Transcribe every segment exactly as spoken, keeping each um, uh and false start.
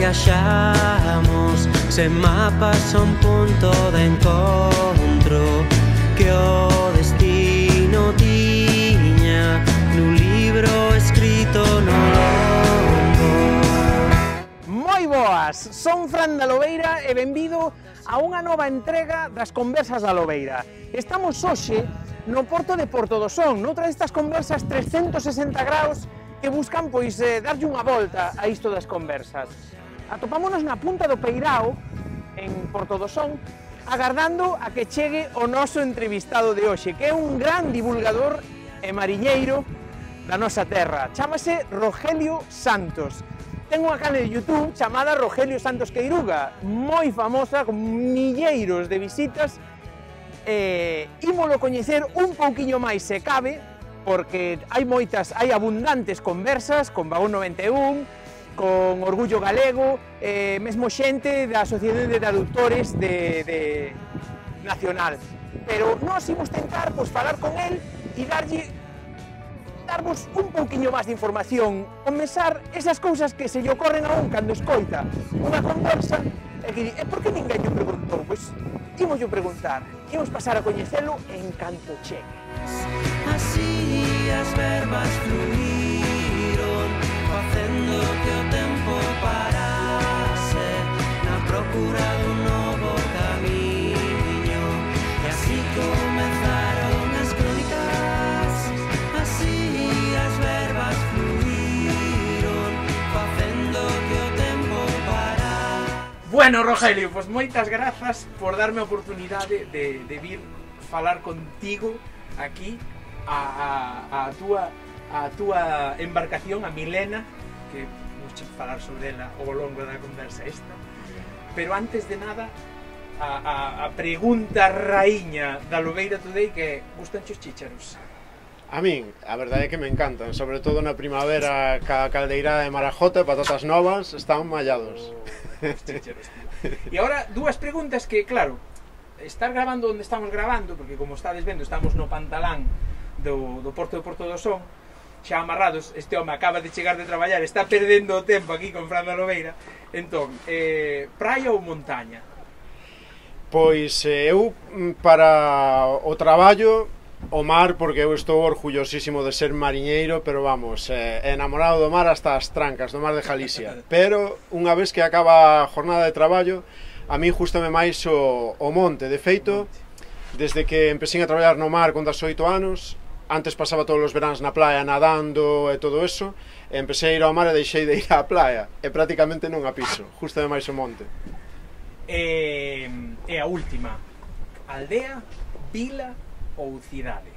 viaxamos sen mapas a un punto de encontro que o destino tiña nun libro escrito no lombo. Moi boas, son Fran da Lobeira e benvido a unha nova entrega das Conversas da Lobeira. Estamos hoxe no porto de Porto do Son, noutra destas conversas trescentos sesenta graus que buscan pois eh, darlle unha volta a isto das conversas. Atopámonos na punta do Peirao, en Porto do Son, agardando a que chegue o noso entrevistado de hoxe, que é un gran divulgador e mariñeiro da nosa terra. Chámase Rogelio Santos. Ten unha canle de YouTube chamada Rogelio Santos Queiruga, moi famosa, con milleiros de visitas. Eh, ímolo coñecer un pouquiño máis se cabe, porque hai moitas, hai abundantes conversas con Vagón noventa e un, con Orgullo Galego, eh, mesmo xente da Asociación de Traductores de, de Nacional. Pero nós imos tentar pois, falar con el e darlle, darvos un pouquiño máis de información, comenzar esas cousas que se lle ocorren a un cando escoita unha conversa e que di, e por que ninguén lle preguntou? Pois imos lle preguntar, imos pasar a coñecelo en canto chegue. Así as verbas fluíron, facendo que o tempo parase na procura dun novo camiño, e así comenzaron as crónicas. Así as verbas fluíron, facendo que o tempo parase. Bueno, Rogelio, pois moitas grazas por darme a oportunidade de, de vir falar contigo aquí a, a, a, túa, a túa embarcación, a Milena, que vamos a falar sobre ela ao longo da conversa esta. Pero antes de nada, a, a, a pregunta raíña da Lobeira Today, que é, gustan os chícharos? A min, a verdade é que me encantan, sobre todo na primavera, ca caldeirada de marajota, patatas novas, están mallados. Oh, os chícharos, tío. E agora, dúas preguntas que, claro, estar grabando onde estamos grabando, porque como estades vendo, estamos no pantalán do, do porto de Porto do Son, xa amarrados, este home acaba de chegar de traballar, está perdendo o tempo aquí con Fran da Lobeira. Entón, eh, praia ou montaña? Pois eu, para o traballo, o mar, porque eu estou orgullosísimo de ser mariñeiro, pero vamos, eh, enamorado do mar hasta as trancas, do mar de Galicia. Pero, unha vez que acaba a jornada de traballo, a mí gústame máis o, o monte. De feito, desde que empecé a traballar no mar con dezoito anos, antes pasaba todos os veráns na playa nadando e todo eso, e empecé a ir ao mar e deixei de ir á playa, e prácticamente non a piso, gústame máis o monte. E, e a última, aldea, vila ou cidade?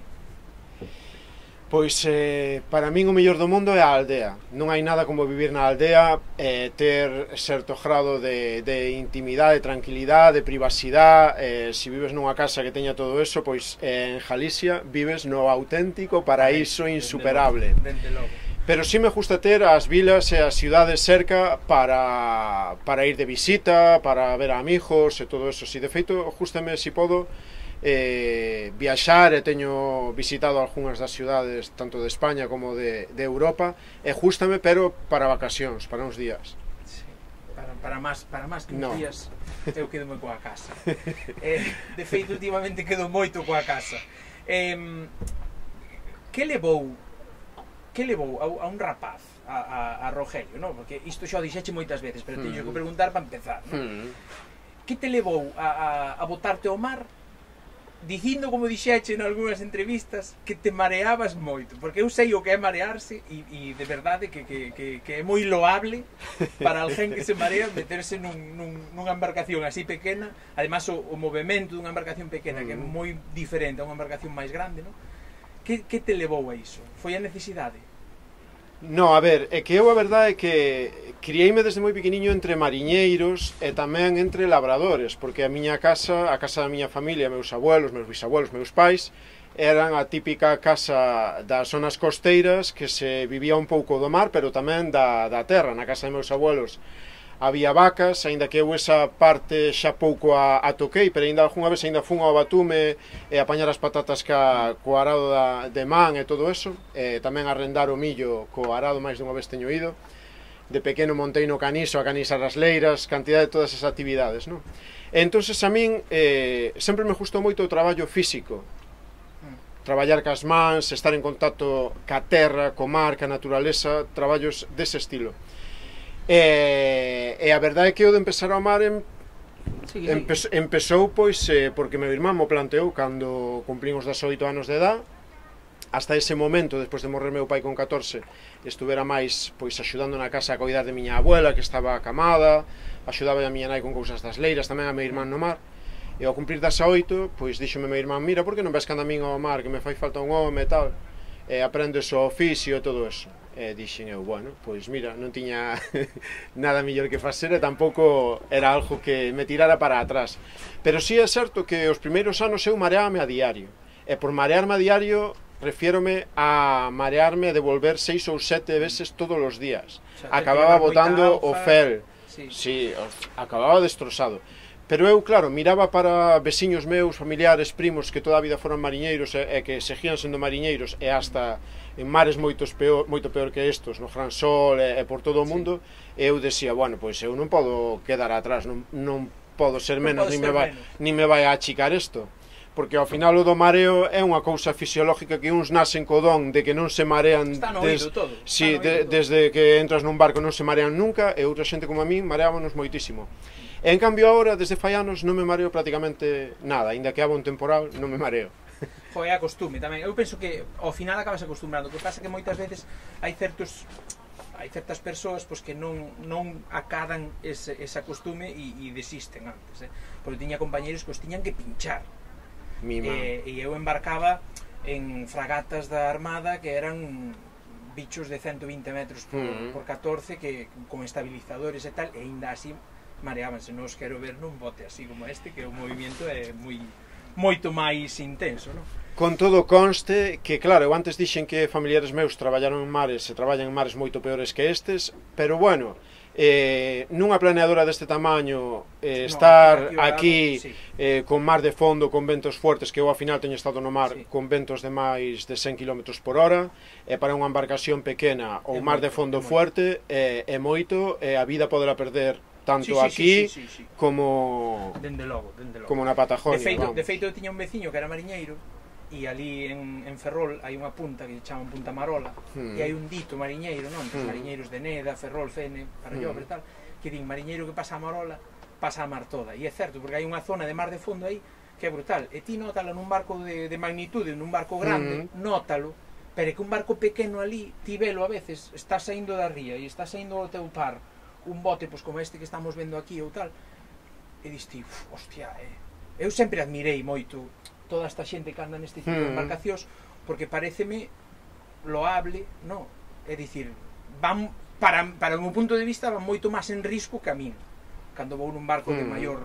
Pois, eh, para min o mellor do mundo é a aldea. Non hai nada como vivir na aldea, eh, ter certo grado de, de intimidade, tranquilidade, de privacidade. Eh, se vives nunha casa que teña todo eso, pois eh, en Galicia vives no auténtico paraíso insuperable. Pero si me gusta ter as vilas e as cidades cerca para, para ir de visita, para ver a amigos e todo eso. Si de feito, justame si podo, Eh, viaxar, e teño visitado algunhas das cidades tanto de España como de, de Europa, e justame, pero para vacacións, para uns días. Sí, para, para máis para máis que uns no. días eu quedo moi coa casa. eh, de feito, últimamente quedo moito coa casa. Eh, que levou que levou a, a un rapaz a, a, a Rogelio, no? Porque isto xa o dixeche moitas veces, pero teño que preguntar para empezar, no? Mm. Que te levou a, a, a botarte ao mar, dicindo, como dixeche en algunhas entrevistas, que te mareabas moito? Porque eu sei o que é marearse e, e de verdade que, que, que, que é moi loable para alguén que se marea meterse nun, nun, nunha embarcación así pequena. Además, o, o movimento dunha embarcación pequena, que é moi diferente a unha embarcación máis grande, non? Que, que te levou a iso? Foi a necesidade? No, a ver, é que eu a verdade é que crieime desde moi pequeniño entre mariñeiros e tamén entre labradores, porque a miña casa, a casa da miña familia, meus abuelos, meus bisabuelos, meus pais, eran a típica casa das zonas costeiras que se vivía un pouco do mar, pero tamén da, da terra. Na casa de meus abuelos había vacas, aínda que eu esa parte xa pouco a, a toquei, pero aínda algunha vez aínda fun ao batume e apañar as patatas ca, co arado da, de man e todo eso, e tamén arrendar o millo co arado, máis dunha vez teño ido. de pequeno montei no caniso a canisar as leiras, cantidad de todas esas actividades, non? E entonces a min eh, sempre me gustou moito o traballo físico, traballar cas mans, estar en contacto ca terra, co mar, ca naturaleza, traballos dese estilo. E, e a verdade é que o de empezar a amar en, sí, sí. Empe, empezou pois eh, porque meu irmán mo planteou cando cumplín os dezoito anos de edad. Hasta ese momento, despois de morrer meu pai con catorce, estuvera máis pois axudando na casa a coidar de miña abuela, que estaba acamada, axudaba a miña nai con cousas das leiras, tamén a meu irmán no mar. E ao cumplir dezoito, pois díxome meu irmán, mira, por que non ves cando a min ao mar, que me fai falta un home e tal, e aprendes o oficio e todo eso. E dixen eu, bueno, pois mira, non tiña nada mellor que facer e tampouco era algo que me tirara para atrás. Pero sí é certo que os primeiros anos eu mareábame a diario, e por marearme a diario refiérome a marearme e devolver seis ou sete veces todos os días. O sea, acababa botando o fel, sí. Sí, acababa destrozado. Pero eu, claro, miraba para veciños meus, familiares, primos que toda a vida foran mariñeiros e, e que seguían sendo mariñeiros e hasta en mares moitos peor, moito peor que estos, no Gran Sol e, e por todo o mundo, sí. E eu decía, bueno, pois eu non podo quedar atrás, non, non podo ser menos, non nin, me vai, nin me vai a achicar isto. Porque ao final o do mareo é unha cousa fisiológica que uns nacen co don de que non se marean des... todo. Sí, de, todo. Desde que entras nun barco non se marean nunca, e outra xente como a min mareámonos moitísimo. E en cambio agora, desde fai anos, non me mareo prácticamente nada, ainda que haga un temporal, non me mareo. Foi a costume tamén, eu penso que ao final acabas acostumbrando, o que pasa que moitas veces hai certos hai certas persoas pois, que non, non acadan ese, esa costume e, e desisten antes, eh? Porque tiña compañeros que os tiñan que pinchar. E, e eu embarcaba en fragatas da Armada que eran bichos de ciento vinte metros por, uh-huh. por catorce que con estabilizadores e tal, e ainda así mareábanse. Non os quero ver nun bote así como este, que o movimento é moi moito máis intenso, non? Con todo conste que, claro, eu antes dixen que familiares meus traballaron en mares e traballan en mares moito peores que estes, pero bueno, eh, nunha planeadora deste tamaño eh, estar no, aquí, aquí sí. eh, con mar de fondo, con ventos fuertes, que eu ao final teño estado no mar sí. con ventos de máis de cen kilómetros por hora, e para unha embarcación pequena ou mar de fondo fuerte é eh, moito, e a vida poderá perder tanto sí, sí, aquí sí, sí, sí, sí. como dende logo, dende logo. como na Patagonia. De feito, de feito eu tiña un veciño que era mariñeiro, e ali en, en Ferrol hai unha punta que se chama Punta Marola, hmm. e hai un dito mariñeiro, non? Hmm. Mariñeiros de Neda, Ferrol, Fene, Parallobre, hmm. tal, que din mariñeiro que pasa a Marola, pasa a mar toda. E é certo, porque hai unha zona de mar de fondo aí que é brutal. E ti nótalo nun barco de, de magnitude, nun barco grande, hmm. nótalo, pero é que un barco pequeno ali, ti velo a veces, está saindo da ría e está saindo ao teu par un bote pois como este que estamos vendo aquí ou tal, e dis ti, hostia, eh. Eu sempre admirei moito toda esta xente que anda neste tipo de embarcacións, porque pareceme loable, no? É dicir, van, para, para o meu punto de vista, van moito máis en risco que a min, cando vou nun barco de maior,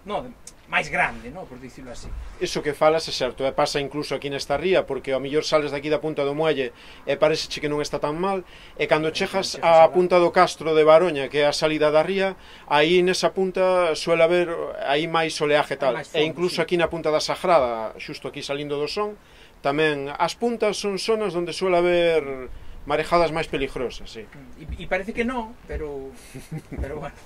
no, de, máis grande, no? Por dicirlo así. Iso que falas é certo, e pasa incluso aquí nesta ría, porque ao mellor sales daqui da punta do muelle e pareceche que non está tan mal, e cando chegas á punta do castro de Baroña, que é a salida da ría, aí nesa punta suele haber aí máis oleaje tal, e incluso aquí na punta da Sagrada, xusto aquí salindo do Son, tamén as puntas son zonas onde suele haber marejadas máis peligrosas, sí. E, e parece que non, pero pero bueno,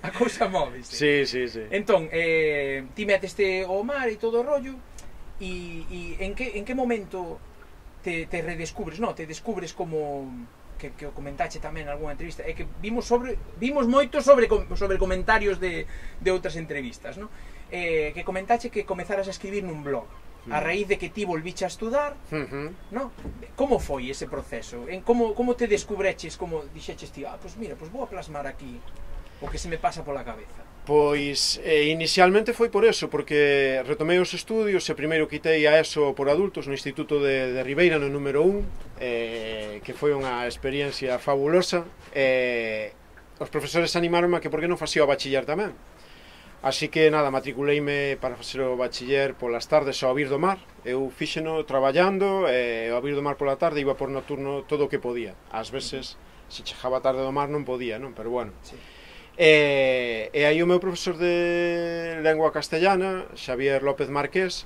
a cousa móvese. Sí, sí, sí. Entón, eh, ti meteste ao mar e todo o rollo, e, e en que en que momento te, te redescubres, no? Te descubres como que, que o comentache tamén en algunha entrevista, é que vimos sobre vimos moito sobre sobre comentarios de, de outras entrevistas, no? Eh, que comentache que comezaras a escribir nun blog a raíz de que ti volviche a estudar, uh-huh. no? Como foi ese proceso? En como, como te descubreches, como dixeches ti, ah, pois mira, pois vou a plasmar aquí o que se me pasa pola cabeza? Pois, eh, inicialmente foi por eso, porque retomei os estudios e primeiro quitei a ESO por adultos no Instituto de, de Ribeira, no número un, eh, que foi unha experiencia fabulosa, e eh, os profesores animaronme a que por que non facía o bachiller tamén. Así que, nada, matriculeime para facer o bachiller polas tardes ao vir do mar. Eu fíxeno traballando, e ao vir do mar pola tarde iba por nocturno todo o que podía. Ás veces, se chegaba tarde do mar non podía, non? Pero bueno. Sí. E, e aí o meu profesor de lengua castellana, Xavier López Marqués,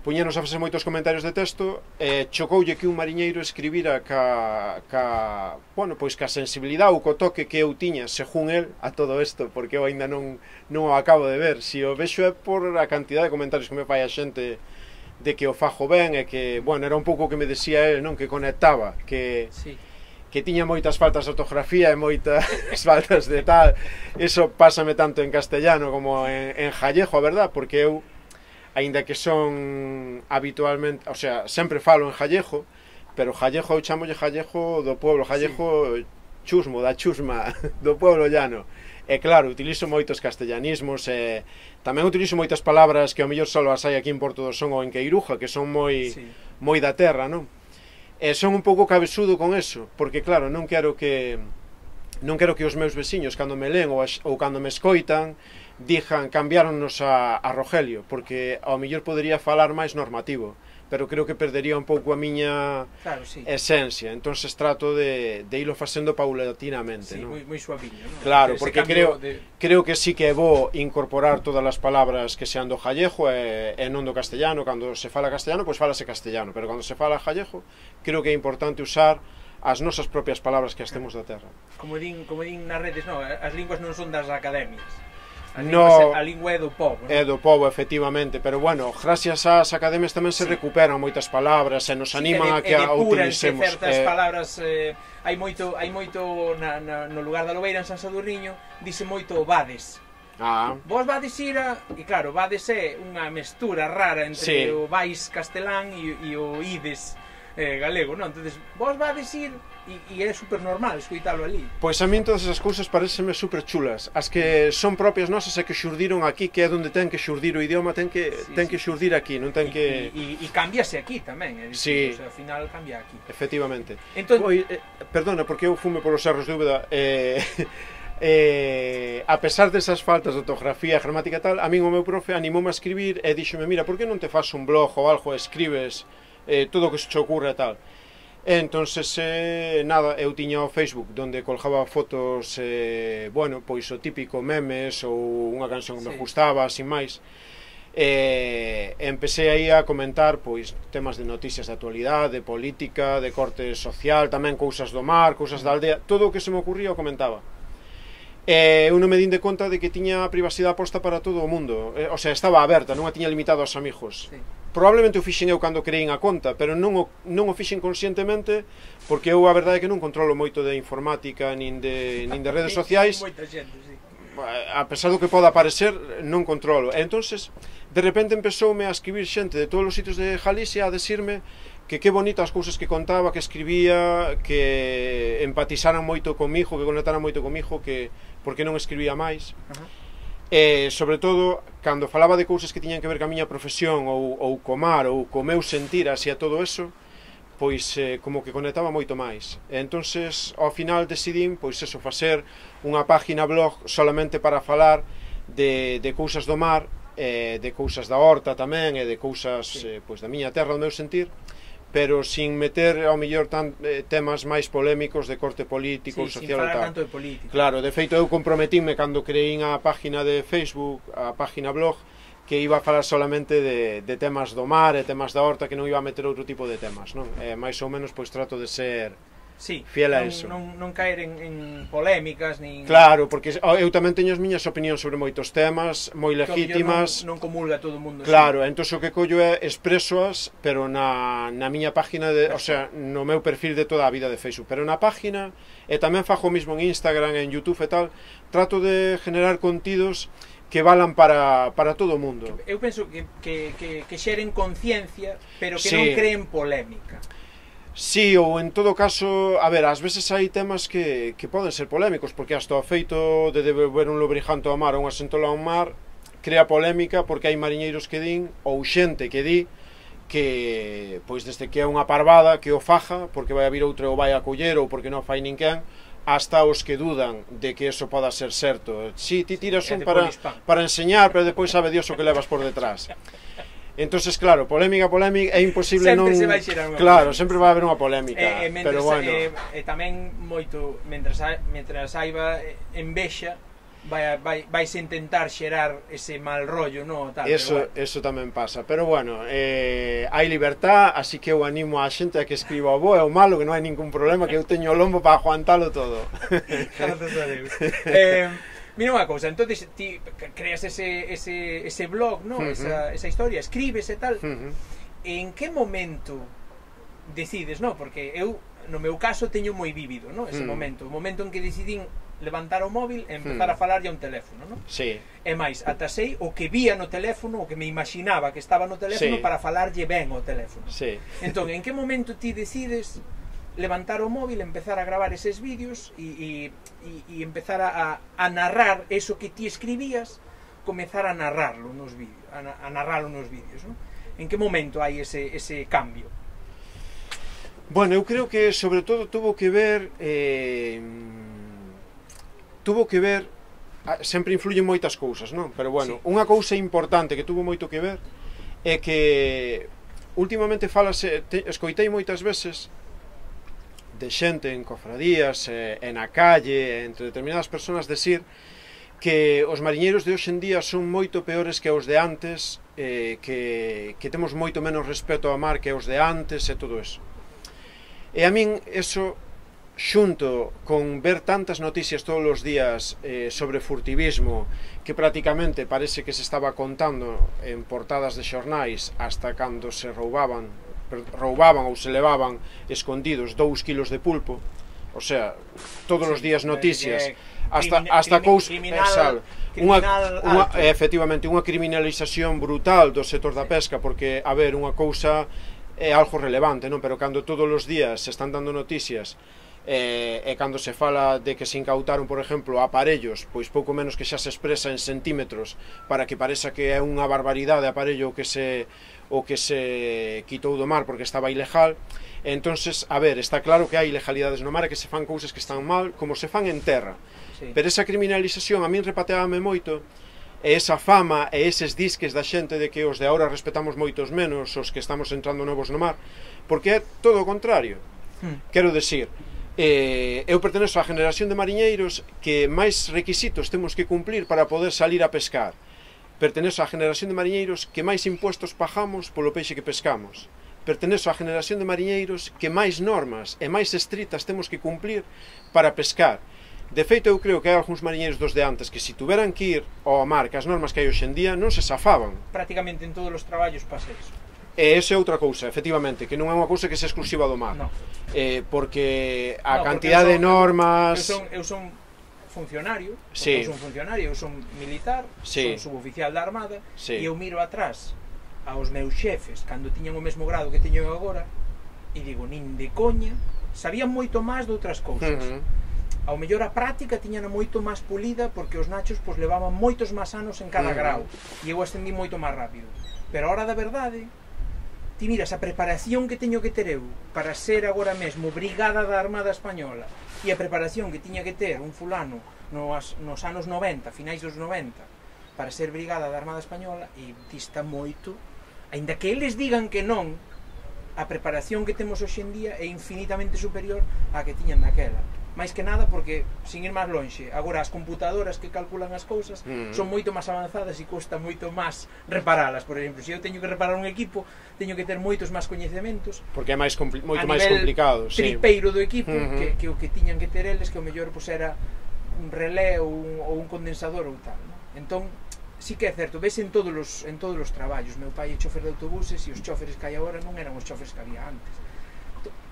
puñenos a facer moitos comentarios de texto, e chocoulle que un mariñeiro escribira ca, ca, bueno, pois ca sensibilidade ou co toque que eu tiña, según el, a todo isto, porque eu ainda non, non o acabo de ver. Si o vexo é por a cantidad de comentarios que me fai a xente de que o fajo ben, e que, bueno, era un pouco o que me decía el, non, que conectaba, que... Sí. que tiña moitas faltas de ortografía e moitas faltas de tal. Eso pásame tanto en castellano como en, en gallego, a verdad, porque eu, aínda que son habitualmente, o sea, sempre falo en gallego, pero gallego eu chamolle gallego do pueblo, gallego sí. Chusmo, da chusma, do pueblo llano. E claro, utilizo moitos castellanismos, e tamén utilizo moitas palabras que ao mellor só as hai aquí en Porto do Son ou en Queiruja, que son moi, sí. moi da terra, non? E son un pouco cabezudo con eso, porque claro, non quero que non quero que os meus veciños, cando me leen ou, ou cando me escoitan, dixan, cambiáronnos a, a Rogelio, porque ao mellor podería falar máis normativo, pero creo que perdería un pouco a miña claro, sí. esencia. Entonces trato de, de ilo facendo paulatinamente, sí, ¿no? moi, moi suaviño, ¿no? Claro, porque creo, de... creo que sí que é bo incorporar todas as palabras que sean do gallego e, e non do castellano. Cando se fala castellano, pois falase castellano, pero cando se fala gallego, creo que é importante usar as nosas propias palabras que as temos da terra. Como din, como din nas redes, no, as linguas non son das academias. A no, lingua, a lingua é do povo, non? É do povo, efectivamente, pero bueno, gracias ás academias tamén se sí. recuperan moitas palabras e nos animan sí, a que a utilicemos. Certas eh, palabras, eh, hai moito, hai moito na, na, no lugar da Lobeira, en San Sadurniño, dice moito vades. Ah. Vos vades ir a... E claro, vades é unha mestura rara entre sí. o vais castelán e, e o ides eh, galego, non? Entonces, vos vades ir... E, e é super normal escoitalo ali. Pois a min todas esas cousas pareceme super chulas. As que son propias nosas e que xurdiron aquí, que é onde ten que xurdir o idioma, ten que sí, ten sí. que xurdir aquí, non ten e, que... E, e cambiase aquí tamén, é dicir, sí. o sea, ao final cambia aquí. Efectivamente. Entón... Pois, eh, perdona, porque eu fume polos erros de Úbeda, eh, eh, a pesar desas faltas de ortografía e gramática e tal, a min o meu profe animoume a escribir e díxome, mira, por que non te faz un blog ou algo e escribes eh, todo o que se te ocurre e tal? Entonces, eh, nada, eu tiña o Facebook donde colgaba fotos, eh, bueno, pois o típico memes ou unha canción que sí. me gustaba, sin máis. E eh, empecé aí a comentar pois temas de noticias de actualidade, de política, de corte social, tamén cousas do mar, cousas da aldea, todo o que se me ocurría o comentaba. E eu non me din de conta de que tiña a privacidade posta para todo o mundo, eh, o sea, estaba aberta, non a tiña limitado aos amigos. Sí. Probablemente o fixen eu cando creín a conta, pero non o, non o fixen conscientemente, porque eu a verdade é que non controlo moito de informática, nin de, nin de redes sociais. Moita xente, sí. A pesar do que poda parecer, non controlo. E entonces, de repente empezoume a escribir xente de todos os sitios de Galicia a decirme que que bonito as cousas que contaba, que escribía, que empatizaran moito comigo, que conectaran moito comigo, que porque non escribía máis. Uh -huh. E, sobre todo, cando falaba de cousas que tiñan que ver ca miña profesión ou, ou co mar, ou co meu sentir así a todo eso, pois eh, como que conectaba moito máis. E entonces, ao final decidín, pois eso, facer unha página blog solamente para falar de, de cousas do mar, eh, de cousas da horta tamén, e de cousas sí. eh, pois da miña terra, do meu sentir, pero sin meter ao mellor tan, eh, temas máis polémicos de corte político, sí, social sin e tal. Tanto de política. Claro, de feito eu comprometíme cando creín a página de Facebook, a página blog, que iba a falar solamente de, de temas do mar e temas da horta, que non iba a meter outro tipo de temas, non? E máis ou menos pois trato de ser sí, fiel a non, eso. Non, non caer en, en polémicas, nin... Claro, porque eu tamén teño as miñas opinións sobre moitos temas, moi legítimas. Non, non comulga todo o mundo. Claro, sí. Entón o que collo é expresoas, pero na, na miña página, de, o sea, no meu perfil de toda a vida de Facebook, pero na página, e tamén fajo o mismo en Instagram, en YouTube e tal, trato de generar contidos que valan para, para todo o mundo. Eu penso que, que, que, que xeren conciencia, pero que sí. non creen polémica. Sí, ou en todo caso, a ver, ás veces hai temas que, que poden ser polémicos, porque hasta o feito de devolver un lubricante ao mar ou unha sentola ao mar crea polémica, porque hai mariñeiros que din, ou xente que di, que, pois desde que é unha parvada, que o faja, porque vai a vir outro ou vai a coller, ou porque non fai ninguén, hasta os que dudan de que eso poda ser certo. Si, ti tiras un para, para enseñar, pero depois sabe Dios o que levas por detrás. Entonces, claro, polémica, polémica, é imposible non... Sempre se vai xerar unha Claro, polémica. sempre vai haber unha polémica, eh, eh, pero bueno... E eh, eh, tamén moito, mentras, mentras haiba envexa, vai, vai, vais intentar xerar ese mal rollo, no? Tal, eso, bueno. eso tamén pasa, pero bueno, eh, hai libertad, así que eu animo a xente a que escriba o bo e o malo, que non hai ningún problema, que eu teño o lombo para aguantalo todo. Gracias a Deus. eh, mira unha cousa, entonces ti creas ese, ese, ese blog, no? Uh -huh. esa, esa historia, escribes e tal, uh -huh. En que momento decides, no? Porque eu, no meu caso, teño moi vívido, no? Ese uh -huh. momento, o momento en que decidín levantar o móvil e empezar hmm. a falarlle a un teléfono, non? Sí. E máis, ata sei o que vía no teléfono, o que me imaginaba que estaba no teléfono, sí. Para falarlle ben o teléfono. Sí. Entón, en que momento ti decides levantar o móvil, empezar a gravar eses vídeos e, e, e empezar a, a narrar eso que ti escribías, comezar a narrarlo nos vídeos, a, a narrarlo nos vídeos, non? En que momento hai ese, ese cambio? Bueno, eu creo que sobre todo tuvo que ver... Eh... tuvo que ver, sempre influyen moitas cousas, non? Pero bueno, sí. Unha cousa importante que tuvo moito que ver é que últimamente falase, te, escoitei moitas veces de xente en cofradías, eh, en a calle, entre determinadas persoas decir que os mariñeiros de hoxe en día son moito peores que os de antes, eh, que, que temos moito menos respeto ao mar que os de antes e todo eso. E a min eso... xunto con ver tantas noticias todos os días eh, sobre furtivismo que prácticamente parece que se estaba contando en portadas de xornais hasta cando se roubaban roubaban ou se levaban escondidos dous kilos de pulpo, o sea, todos os días noticias hasta, hasta cousa criminal, unha, unha, efectivamente unha criminalización brutal do sector da pesca, porque, a ver, unha cousa é algo relevante, non? Pero cando todos os días se están dando noticias E, e cando se fala de que se incautaron, por exemplo, aparellos, pois pouco menos que xa se expresa en centímetros para que pareza que é unha barbaridade aparello o que se o que se quitou do mar porque estaba ilegal. E entonces, a ver, está claro que hai ilegalidades no mar e que se fan cousas que están mal como se fan en terra. Sí. Pero esa criminalización a min repateábame moito, e esa fama e eses disques da xente de que os de agora respetamos moitos menos os que estamos entrando novos no mar, porque é todo o contrario. Hmm. Quero decir, Eh, eu pertenezo á generación de mariñeiros que máis requisitos temos que cumplir para poder salir a pescar. Pertenezo á generación de mariñeiros que máis impuestos pagamos polo peixe que pescamos. Pertenezo á generación de mariñeiros que máis normas e máis estritas temos que cumplir para pescar. De feito, eu creo que hai algúns mariñeiros dos de antes que se tuveran que ir ao mar que as normas que hai hoxe en día non se safaban. Prácticamente en todos os traballos pasa iso. E esa é outra cousa, efectivamente, que non é unha cousa que se exclusiva do mar. No. Eh, porque a no, cantidade porque de normas... Eu son, eu son funcionario, sí. eu son funcionario, eu son militar, sí. Son suboficial da Armada, sí. E eu miro atrás aos meus xefes, cando tiñan o mesmo grado que teño eu agora, e digo, nin de coña, sabían moito máis de outras cousas. Uh -huh. Ao mellor a práctica tiñan moito máis pulida porque os nachos pois, levaban moitos máis anos en cada uh -huh. grau, e eu ascendí moito máis rápido. Pero a hora da verdade... Ti miras a preparación que teño que ter eu para ser agora mesmo brigada da Armada Española e a preparación que tiña que ter un fulano nos, nos anos noventa, finais dos noventa, para ser brigada da Armada Española, e dista moito, aínda que eles digan que non, a preparación que temos hoxe en día é infinitamente superior á que tiñan naquela. máis que nada porque, sin ir máis lonxe, agora as computadoras que calculan as cousas mm. son moito máis avanzadas e custa moito máis reparalas. Por exemplo, se eu teño que reparar un equipo, teño que ter moitos máis coñecementos, porque é máis moito máis complicado, sí. tripeiro do equipo, uh -huh. que, que o que tiñan que ter eles, que o mellor pues, era un relé ou un, ou un condensador ou tal, ¿no? Entón, sí que é certo, ves en todos os en todos os traballos. Meu pai é chofer de autobuses e os choferes que hai agora non eran os choferes que había antes.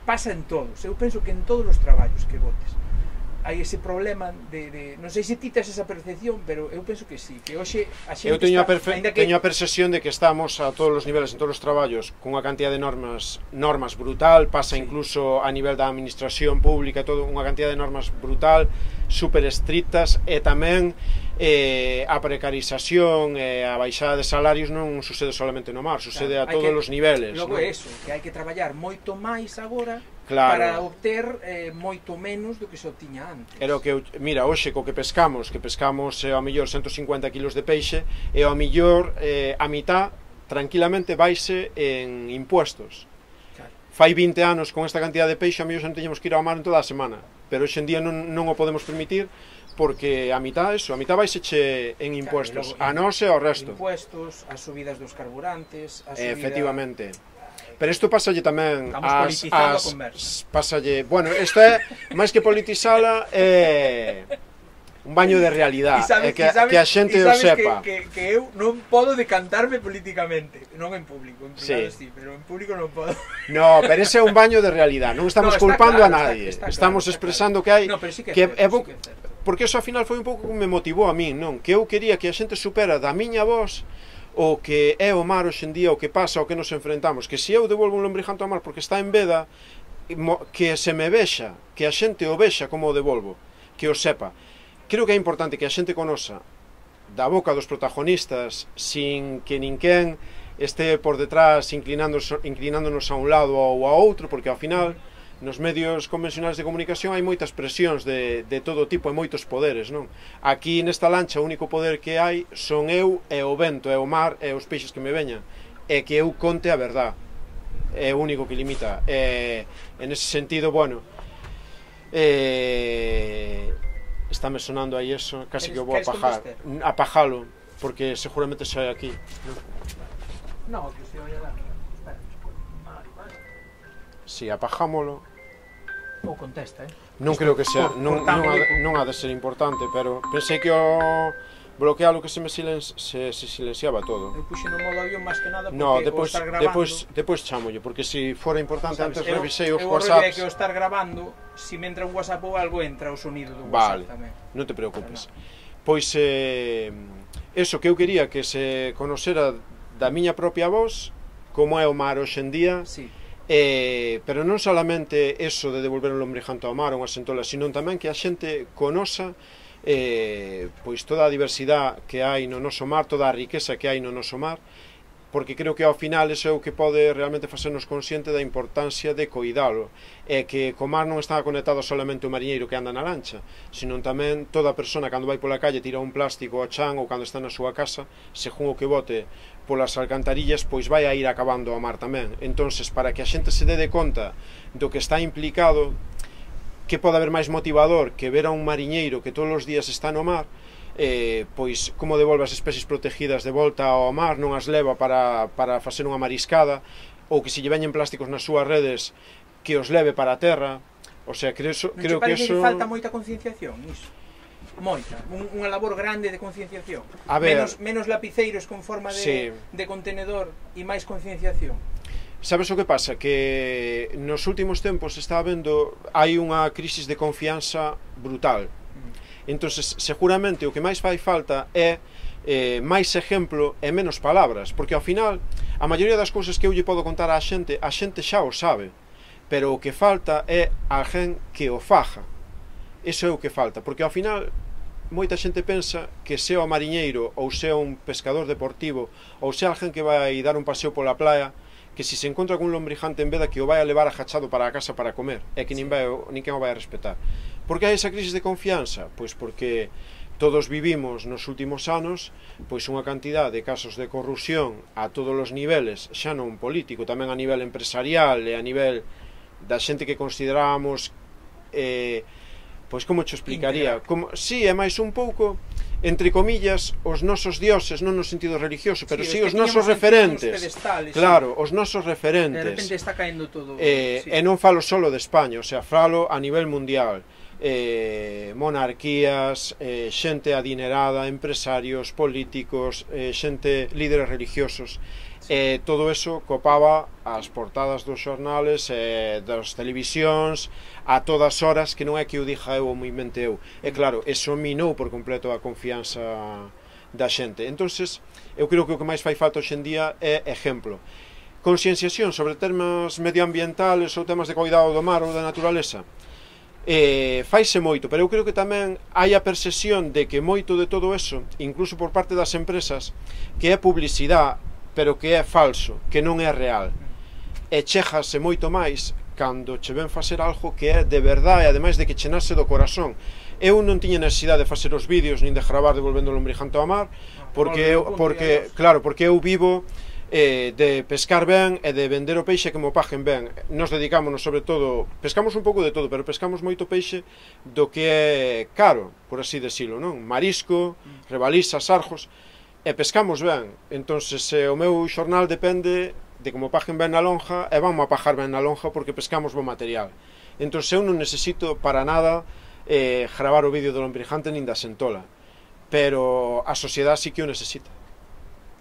Pasa en todos, eu penso que en todos os traballos que botes hai ese problema de, de non sei se ti tes esa percepción, pero eu penso que sí, que hoxe a xente eu teño está, a, perfe que... teño a percepción de que estamos a todos os niveles, en todos os traballos, con unha cantidad de normas normas brutal, pasa sí. incluso a nivel da administración pública, todo unha cantidad de normas brutal, super estrictas, e tamén eh, a precarización e a baixada de salarios non sucede solamente no mar, sucede claro, a todos que, os niveles. Logo ¿no? é eso, que hai que traballar moito máis agora claro. para obter eh, moito menos do que se obtiña antes. Era o que, mira, hoxe co que pescamos, que pescamos eh, ao mellor ciento cincuenta kilos de peixe, e ao mellor eh, a mitad tranquilamente vaise en impuestos. Claro. Fai vinte anos con esta cantidad de peixe, a mellor non teñemos que ir ao mar en toda a semana, pero hoxe en día non, non o podemos permitir porque a mitad, eso, a mitad vais eche en impuestos, a nós e ao resto. Impuestos, as subidas dos carburantes, a subida... Efectivamente. Pero isto pasalle tamén Estamos as, politizando as, a conversa. pasalle, bueno, isto é máis que politizala, é un baño de realidade, é que, sabes, que a xente o sepa. Que, que, que eu non podo decantarme políticamente, non en público, en privado sí. sí, pero en público non podo. No, pero ese é un baño de realidade, non estamos no, culpando claro, a nadie, está, está estamos claro, expresando claro. que hai, no, sí que, que é, é, sí que é porque eso ao final foi un pouco que me motivou a min, non? Que eu quería que a xente supera da miña voz o que é o mar hoxendía, o que pasa, o que nos enfrentamos, que se eu devolvo un lombrijanto ao mar porque está en veda, que se me vexa, que a xente o vexa como o devolvo, que o sepa. Creo que é importante que a xente conoza da boca dos protagonistas sin que ninguén este por detrás inclinándonos, inclinándonos a un lado ou a outro, porque ao final nos medios convencionais de comunicación hai moitas presións de, de todo tipo e moitos poderes, non? Aquí nesta lancha o único poder que hai son eu e o vento, e o mar e os peixes que me veñan, e que eu conte a verdad, é o único que limita. E, en ese sentido, bueno, eh, estáme sonando aí eso, casi que eu vou apajar, apajalo, porque seguramente xa hai aquí, non? No, que se oia lá. Si, apajámolo. Ou contesta, eh? Non creo que sea, non, non, ha, non ha de ser importante, pero pensei que o bloquealo que se me silen, se, se silenciaba todo. Eu puxe no modo avión máis que nada porque no, depois, o estar grabando... Depois, depois chamolle, porque se si fora importante, sabes, antes eu, revisei os eu WhatsApps... Eu que o estar grabando, se si me entra un WhatsApp ou algo, entra o sonido do vale, WhatsApp tamén. Non te preocupes. Pois, eh, eso que eu quería que se conocera da miña propia voz, como é o mar hoxendía, sí. Eh, pero non solamente eso de devolver un lombrijanto ao mar ou unha sentola, sino tamén que a xente conoza eh, pois toda a diversidade que hai no noso mar, toda a riqueza que hai no noso mar, porque creo que ao final iso é o que pode realmente facernos consciente da importancia de coidalo, e que co mar non está conectado solamente o mariñeiro que anda na lancha, sino tamén toda a persona cando vai pola calle tira un plástico ao chan ou cando está na súa casa, según o que bote polas alcantarillas, pois vai a ir acabando ao mar tamén. Entonces, para que a xente se dé de conta do que está implicado, que pode haber máis motivador que ver a un mariñeiro que todos os días está no mar, eh, pois como devolve as especies protegidas de volta ao mar, non as leva para, para facer unha mariscada, ou que se lle veñen plásticos nas súas redes, que os leve para a terra. O sea, creo, non creo que eso... Non falta moita concienciación, iso? Moita, un, unha labor grande de concienciación. A ver, menos, menos lapiceiros con forma de, sí. de contenedor e máis concienciación. Sabes o que pasa? Que nos últimos tempos está habendo, hai unha crisis de confianza brutal. Entonces, seguramente o que máis fai falta é eh, máis exemplo e menos palabras, porque ao final a maioría das cousas que eu lle podo contar á xente, a xente xa o sabe, pero o que falta é alguén que o faja. Eso é o que falta, porque ao final moita xente pensa que sea o mariñeiro ou sea un pescador deportivo ou sea alguén que vai dar un paseo pola playa, que se se encontra con un lombrijante en veda que o vai a levar agachado para a casa para comer, e que nin vai, ninguén o vai a respetar. Por que hai esa crisis de confianza? Pois porque todos vivimos nos últimos anos pois unha cantidad de casos de corrupción a todos os niveles, xa non político, tamén a nivel empresarial e a nivel da xente que consideramos eh, pois como te explicaría, como, sí, é máis un pouco entre comillas os nosos dioses, non no sentido religioso, pero sí, sí os nosos referentes, claro, sí. Os nosos referentes, de repente está caendo todo, eh, sí. E non falo solo de España, o sea, falo a nivel mundial, eh, monarquías, eh, xente adinerada, empresarios, políticos, eh, xente, líderes religiosos. E todo eso copaba as portadas dos xornales, eh, das televisións, a todas horas, que non é que eu dixa eu ou me invente eu. E claro, eso minou por completo a confianza da xente. Entonces, eu creo que o que máis fai falta hoxendía é exemplo. Conscienciación sobre temas medioambientales ou temas de cuidado do mar ou da naturaleza. Eh, faise moito, pero eu creo que tamén hai a percepción de que moito de todo eso, incluso por parte das empresas, que é publicidade, pero que é falso, que non é real. E chégase moito máis cando che ven facer algo que é de verdade, e ademais de que che nace do corazón. Eu non tiña necesidade de facer os vídeos nin de gravar devolvendo o lombrijanto ao mar, porque eu, porque, claro, porque eu vivo eh, de pescar ben e de vender o peixe que mo paguen ben. Nos dedicámonos sobre todo, pescamos un pouco de todo, pero pescamos moito peixe do que é caro, por así decirlo, non? Marisco, rebalisas, sarjos, e pescamos ben. Entón, se o meu xornal depende de como paguen ben na lonja, e vanmo a pagar ben na lonja porque pescamos bo material. Entón, eu non necesito para nada eh, gravar o vídeo do Lombrijante nin da Sentola, pero a sociedade sí que o necesita.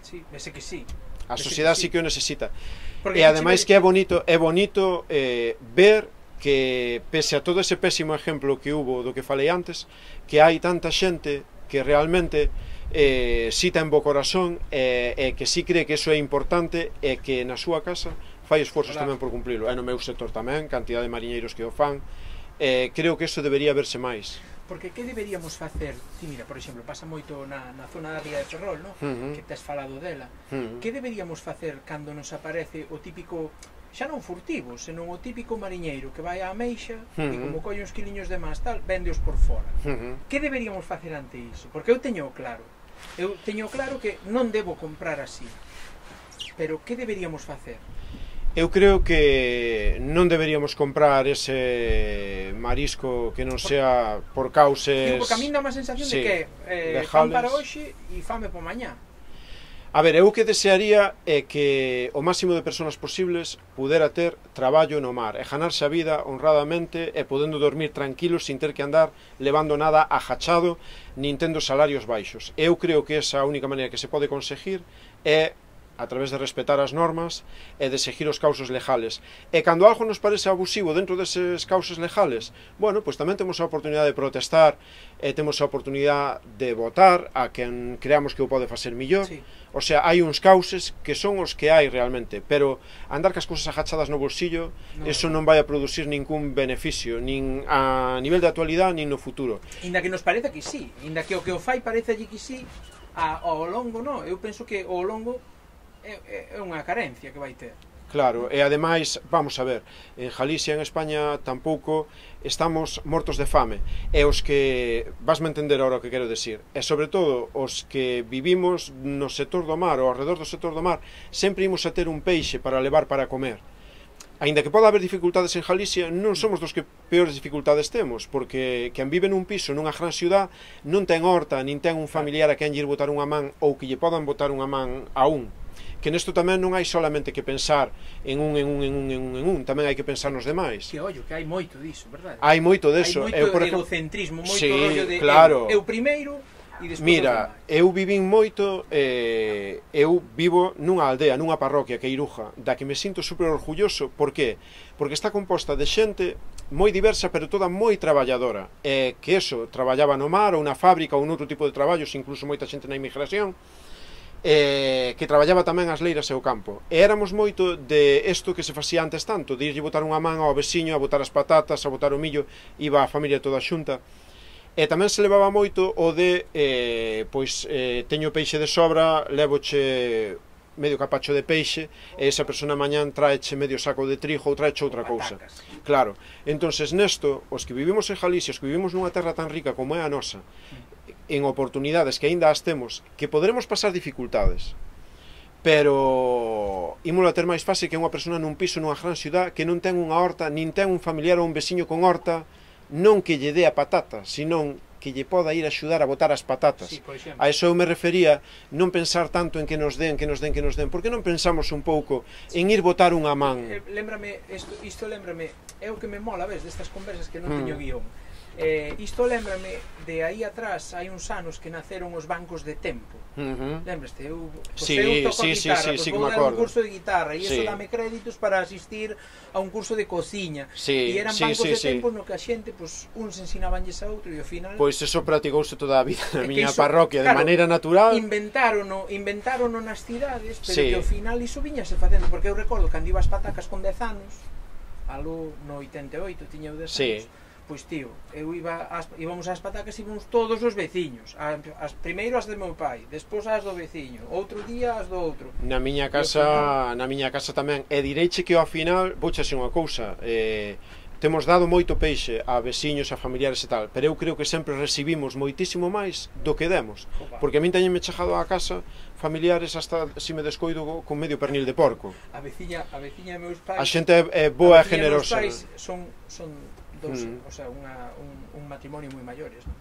Sí, ese que sí. A sociedade sí que o necesita. Porque E ademais que é bonito, é bonito eh, ver que, pese a todo ese pésimo exemplo que hubo do que falei antes, que hai tanta xente que realmente eh, si ten bo corazón e, e que si cree que eso é importante e que na súa casa fai esforzos claro. tamén por cumplilo. E no meu sector tamén, cantidad de mariñeiros que o fan. Eh, creo que eso debería verse máis. Porque que deberíamos facer? Ti mira, por exemplo, pasa moito na, na zona da Ría de Ferrol, no? Uh -huh. Que tes falado dela. Uh -huh. Que deberíamos facer cando nos aparece o típico, xa non furtivo, senón o típico mariñeiro que vai á ameixa uh -huh. e como colle uns quiliños de máis tal, véndeos por fora. Uh -huh. Que deberíamos facer ante iso? Porque eu teño claro, eu teño claro que non debo comprar así. Pero que deberíamos facer? Eu creo que non deberíamos comprar ese marisco que non sea por causes... Digo, porque a mí dá má sensación sí, de que eh, fan para hoxe e fame por mañá. A ver, eu o que desearía é que o máximo de persoas posibles pudera ter traballo no mar e ganarse a vida honradamente e podendo dormir tranquilos sin ter que andar levando nada agachado nin tendo salarios baixos. Eu creo que esa única maneira que se pode conseguir é a través de respetar as normas e de seguir os causos legales. E cando algo nos parece abusivo dentro deses causos legales, bueno, pois tamén temos a oportunidade de protestar e temos a oportunidade de votar a quen creamos que o pode facer millor. Sí. O sea, hai uns causes que son os que hai realmente, pero andar cas cousas agachadas no bolsillo, no, eso non vai a producir ningún beneficio, nin a nivel de actualidade, nin no futuro. Inda que nos parece que sí, inda que o que o fai parece allí que sí, ao longo non, eu penso que ao longo é unha carencia que vai ter. Claro, e ademais, vamos a ver, en Galicia, en España, tampouco estamos mortos de fame. E os que, vasme entender agora o que quero decir, e sobre todo os que vivimos no sector do mar ou ao redor do sector do mar, sempre imos a ter un peixe para levar para comer. Aínda que poda haber dificultades en Galicia, non somos dos que peores dificultades temos, porque quen vive nun piso nunha gran ciudad non ten horta, nin ten un familiar a quen lle botar unha man ou que lle podan botar unha man a un. Que nesto tamén non hai solamente que pensar en un, en un, en un, en un, en un, tamén hai que pensar nos demais. Que ollo, que hai moito diso, verdade? Hai moito deso. Hai moito eu, por egocentrismo, moito sí, rollo de claro. eu, eu primeiro e despois mira, eu vivín moito, eh, eu vivo nunha aldea, nunha parroquia que é Iruja, da que me sinto super orgulloso. Por qué? Porque está composta de xente moi diversa, pero toda moi traballadora. E que eso, traballaba no mar ou na fábrica ou noutro tipo de traballos, incluso moita xente na inmigración, Eh, que traballaba tamén as leiras e o campo. E éramos moito de isto que se facía antes tanto, de irlle botar unha man ao veciño, a botar as patatas, a botar o millo, iba a familia toda xunta. E tamén se levaba moito o de, eh, pois, eh, teño peixe de sobra, levoche medio capacho de peixe, e esa persona mañán traeche medio saco de trigo ou traeche outra cousa. Claro, entonces nesto, os que vivimos en Galicia, os que vivimos nunha terra tan rica como é a nosa, en oportunidades que aínda as temos, que poderemos pasar dificultades, pero ímolo a ter máis fácil que unha persona nun piso nunha gran ciudad que non ten unha horta, nin ten un familiar ou un veciño con horta, non que lle dé a patata, senón que lle poda ir a axudar a botar as patatas. Sí, a eso eu me refería, non pensar tanto en que nos den, que nos den, que nos den. Por que non pensamos un pouco en ir botar unha man? Eh, lembrame, isto, isto lembrame, é o que me mola, ves, destas conversas que non mm. teño guión. Eh, isto lembrame de aí atrás, hai uns anos que naceron os bancos de tempo. Uh -huh. Lembraste, eu, pues sí, eu toco sí, a guitarra, sí, pues sí, vou sí, dar un curso de guitarra e sí. iso dame créditos para asistir a un curso de cociña. Sí, e eran sí, bancos sí, de sí. tempo no que a xente, pues, uns ensinabanlles a outro e ao final... Pois eso practicouse toda a vida na miña iso, parroquia, claro, de maneira natural. Inventárono, inventárono nas cidades, pero sí. que ao final iso viñase facendo, porque eu recordo cando iba ás patacas con dez anos, aló no oitenta e oito, tiña eu dez sí. anos, pois tío, eu iba ás, íbamos ás patacas e íbamos todos os veciños, as, primeiro as de meu pai, despois as do veciño, outro día as do outro. Na miña casa, final... na miña casa tamén, e direiche que ao final, vouche así unha cousa, eh, temos dado moito peixe a veciños, a familiares e tal, pero eu creo que sempre recibimos moitísimo máis do que demos, porque a min teñenme chegado á casa familiares hasta se me descoido con medio pernil de porco. A veciña, a veciña de meus pais, a xente é, é boa e generosa. Meus pais son, son dos, mm. o sea, unha, un, un matrimonio moi maiores, ¿no?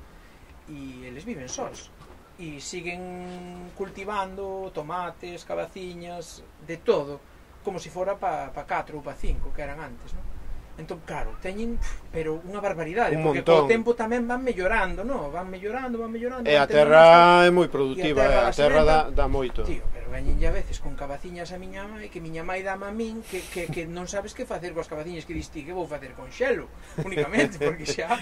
E eles viven sós e siguen cultivando tomates, cabaciñas, de todo, como se fora pa, pa catro ou pa cinco que eran antes, ¿no? Entón, claro, teñen, pero unha barbaridade, un porque montón. co tempo tamén van mellorando, no? Van mellorando, van mellorando. E a terra é moi produtiva, a terra, a terra dá, dá moito. Tío, pero veñenlle a veces con cabaciñas a miña mãe, que miña mãe dame a min, que, que, que non sabes que facer coas cabaciñas, que dis ti, que vou facer con xelo, únicamente, porque xa,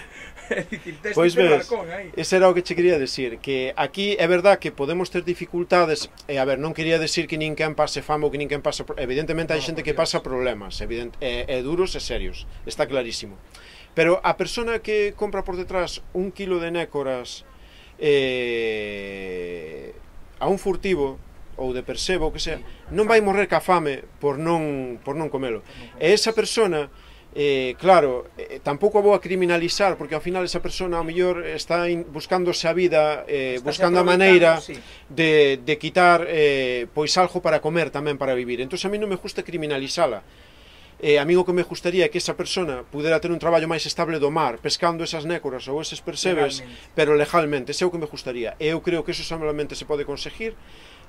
é dicir, tes pois que ter ves, balcón aí. Ese era o que che quería decir, que aquí é verdad que podemos ter dificultades, e a ver, non quería decir que ninguén pase famo, que ninguén pasa, evidentemente hai no, xente que pasa problemas, evident, e, e duros e serios, está clarísimo. Pero a persona que compra por detrás un kilo de nécoras eh, a un furtivo ou de persebo, o que sea, non vai morrer ca fame por non, por non comelo. E esa persona, eh, claro, eh, tampouco a vou a criminalizar, porque ao final esa persona ao mellor está in, buscándose a vida, eh, buscando a maneira sí. de, de quitar eh, pois algo para comer tamén, para vivir. Entón a mí non me gusta criminalizala. Eh, a mí o que me gustaría é que esa persona pudera ter un traballo máis estable do mar, pescando esas nécoras ou eses persebes, legalmente. Pero legalmente, ese é o que me gustaría. E eu creo que eso solamente se pode conseguir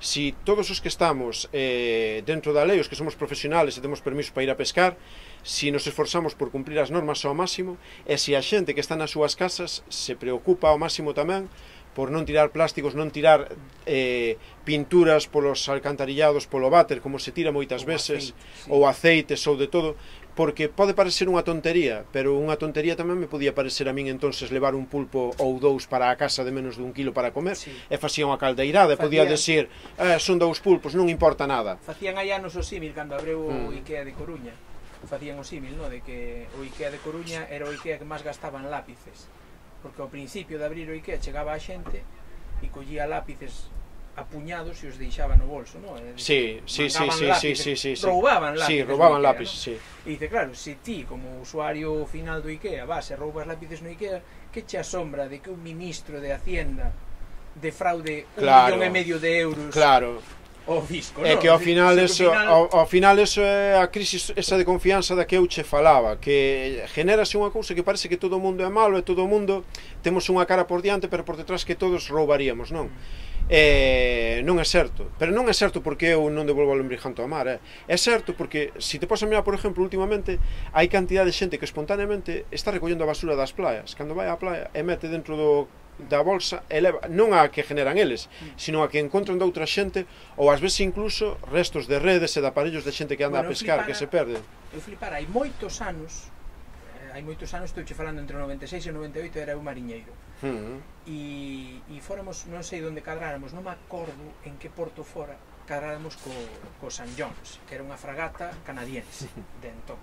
si todos os que estamos eh, dentro da lei, os que somos profesionales e temos permiso para ir a pescar, si nos esforzamos por cumplir as normas ao máximo, e si a xente que está nas súas casas se preocupa ao máximo tamén por non tirar plásticos, non tirar eh, pinturas polos alcantarillados, polo váter, como se tira moitas veces, aceite, sí. ou aceites, ou de todo, porque pode parecer unha tontería, pero unha tontería tamén me podía parecer a min entonces levar un pulpo ou dous para a casa de menos de un kilo para comer, sí. e facía unha caldeirada, e podía decir, eh, son dous pulpos, non importa nada. Facían hai anos o símil, cando abreu o mm. IKEA de Coruña, facían o símil, no? De que o IKEA de Coruña era o IKEA que máis gastaban lápices, porque ao principio de abrir o IKEA chegaba a xente e collía lápices a puñados e os deixaba no bolso, non? Sí, sí, sí, sí, sí, sí, sí, roubaban lápices. Sí, roubaban IKEA, lápices, ¿no? sí. E dice, claro, se ti, como usuario final do IKEA, vas e roubas lápices no IKEA, que che asombra de que un ministro de Hacienda defraude un claro, millón e medio de euros? Claro. O fisco, é no? que ao final, eso, final... ao, ao final eso é a crisis esa de confianza da que eu che falaba, que genérase unha cousa que parece que todo o mundo é malo e todo o mundo temos unha cara por diante, pero por detrás que todos roubaríamos, non? Eh, non é certo, pero non é certo porque eu non devolvo o lombrijanto ao mar, eh. É certo porque, se te podes mirar, por exemplo, últimamente hai cantidad de xente que espontaneamente está recollendo a basura das playas, cando vai á playa e mete dentro do da bolsa, eleva, non a que generan eles, sino a que encontran de outra xente, ou ás veces incluso restos de redes e de aparellos de xente que anda bueno, a pescar, flipara, que se perde. Eu flipara, hai moitos anos, eh, hai moitos anos, estou che falando entre o noventa e seis e o noventa e oito, era eu mariñeiro. Uh -huh. E, e fóramos, non sei onde cadráramos, non me acordo en que porto fora, cadráramos co, co Saint John's, que era unha fragata canadiense de entón.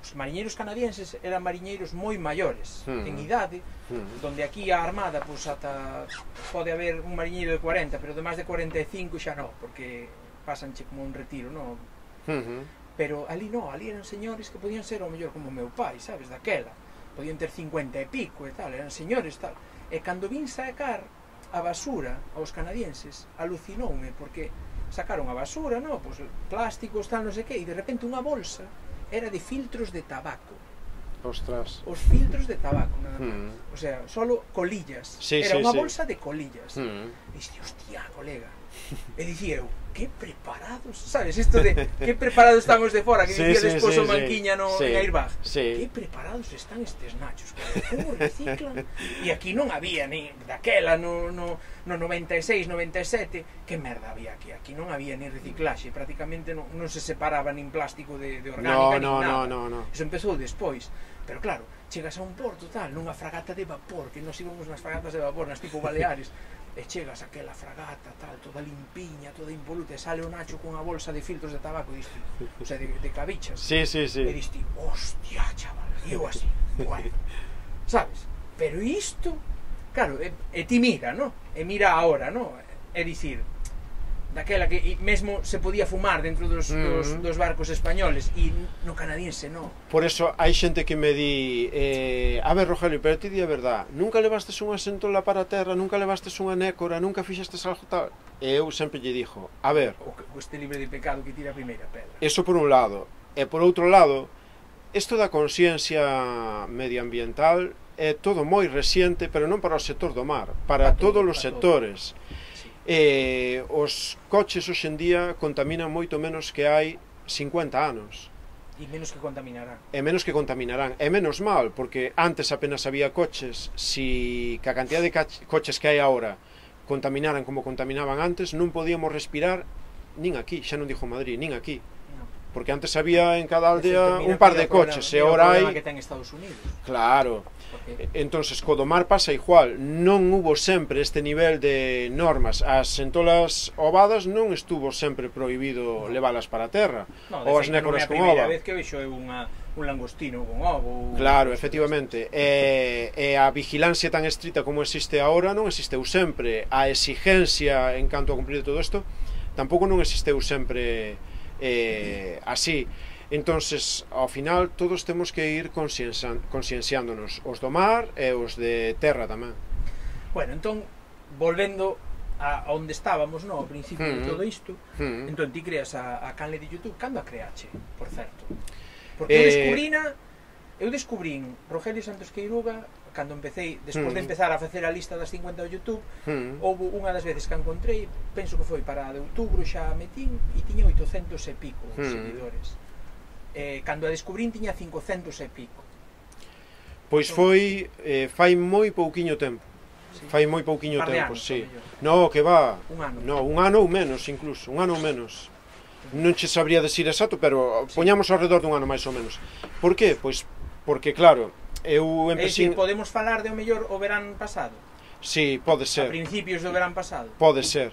Os mariñeiros canadienses eran mariñeiros moi maiores, uh -huh. en idade, uh -huh. donde aquí a Armada, pois ata pode haber un mariñeiro de cuarenta, pero de máis de cuarenta e cinco xa non, porque pasanche como un retiro, non? Uh -huh. Pero ali non, ali eran señores que podían ser ao mellor como meu pai, sabes, daquela. Podían ter cincuenta e pico e tal, eran señores tal. E cando vin sacar a basura aos canadienses, alucinoume, porque sacaron a basura, non? Pois plásticos, tal, non sei que, e de repente unha bolsa era de filtros de tabaco. Ostras. Os filtros de tabaco, nada máis. Mm. O sea, solo colillas. Sí, era sí, unha sí. bolsa de colillas. Mm. E dixi, hostia, colega. E dicía eu, que preparados, sabes, isto de que preparados están os de fora, que sí, dicía sí, despois sí, o Manquiña no, sí, en Airbag. Sí. Que preparados están estes nachos, como reciclan. E aquí non había ni daquela no, no, no noventa e seis, noventa e sete, que merda había aquí? Aquí non había ni reciclaxe, prácticamente non, non se separaba nin plástico de, de orgánica, no, nin no, nada. No, no, no. Eso empezou despois. Pero claro, chegas a un porto tal, nunha fragata de vapor, que nos íbamos nas fragatas de vapor, nas tipo Baleares, e chegas a aquela fragata tal, toda limpiña, toda impoluta, e sale o Nacho cunha bolsa de filtros de tabaco, diste, o sea, de, de cabichas. Sí, sí, sí. E diste, hostia, chaval, e eu así, bueno, sabes? Pero isto, claro, e, e ti mira, no? E mira ahora, no? É dicir, daquela que mesmo se podía fumar dentro dos, dos, dos barcos españoles e no canadiense non. Por eso hai xente que me di eh, a ver, Rogelio, pero ti di a verdad, nunca levastes unha sentola para a terra, nunca levastes unha nécora, nunca fixestes algo tal. E eu sempre lle dixo, a ver, O que este libre de pecado que tira a primeira pedra. eso por un lado, e por outro lado, isto da consciencia medioambiental é todo moi reciente, pero non para o sector do mar, para, para todos os sectores. Eh, os coches hoxe en día contaminan moito menos que hai cincuenta anos. E menos que contaminarán. E menos que contaminarán. E menos mal, porque antes apenas había coches. Si que a cantidad de coches que hai agora contaminaran como contaminaban antes, non podíamos respirar nin aquí, xa non dixo Madrid, nin aquí. Porque antes había en cada aldea un par de coches, e ahora hai... que ten Estados Unidos. Claro. Entonces, co do mar pasa igual, non hubo sempre este nivel de normas. As sentolas ovadas non estuvo sempre prohibido leválas para a terra, no, ou as nécoras con ova. Non é a primeira vez que vexo unha, un langostino con ovo. Claro, efectivamente. E, e a vigilancia tan estrita como existe agora non existeu sempre. A exigencia en canto a cumprir todo isto tampouco non existeu sempre eh, así. Entonces, ao final, todos temos que ir conscienciándonos, os do mar e os de terra tamén. Bueno, entón, volvendo a onde estábamos, no, ao principio mm. de todo isto, mm. entón ti creas a, a canle de YouTube. Cando a creache, por certo? Porque eh... eu descubrina, eu descubrín Rogelio Santos Queiroga cando empecé, despois mm. de empezar a facer a lista das cincuenta do YouTube, mm. houve unha das veces que a encontrei, penso que foi para de outubro, xa metín, e tiña oitocentos e pico mm. seguidores. Eh, cando a descubrín tiña cincocentos e pico. Pois foi eh, fai moi pouquiño tempo. Sí. Fai moi pouquiño tempo, si. Sí. No, que va. Un ano. No, un ano ou menos incluso, un ano ou menos. Non che sabría decir exacto, pero sí. Poñamos ao redor dun ano máis ou menos. Por qué? Pois porque claro, eu empecé. É dicir, podemos falar de o mellor o verán pasado? Si, sí, pode ser. A principios do verán pasado? Pode ser.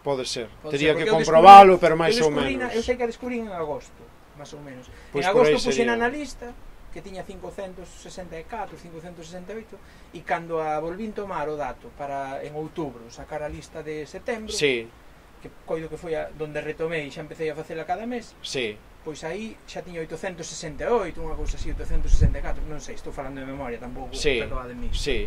Pode ser. Pode Tería ser, que comprobalo, pero máis ou menos. Eu sei que a descubrín en agosto, máis ou menos. Pues en agosto puxen na lista que tiña cincocentos sesenta e catro, cincocentos sesenta e oito, e cando a volvín tomar o dato para en outubro sacar a lista de setembro, sí. que coido que foi a donde retomei e xa empecé a facela cada mes, sí. Pois aí xa tiña oitocentos sesenta e oito, unha cousa así, oitocentos sesenta e catro, non sei, estou falando de memoria, tampouco sí. perdoa de mí. Sí.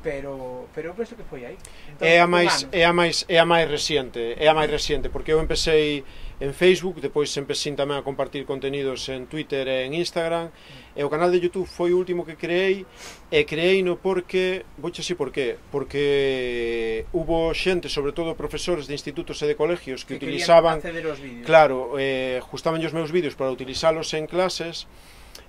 Pero, pero eu penso que foi aí. Entón, é a máis é a máis é a máis reciente, é a máis reciente, porque eu empecé en Facebook, depois empecé tamén a compartir contenidos en Twitter e en Instagram, e o canal de YouTube foi o último que creei, e creeino porque, vouche así por qué, porque hubo xente, sobre todo profesores de institutos e de colegios que, que utilizaban, claro, eh, justaban os meus vídeos para utilizalos en clases.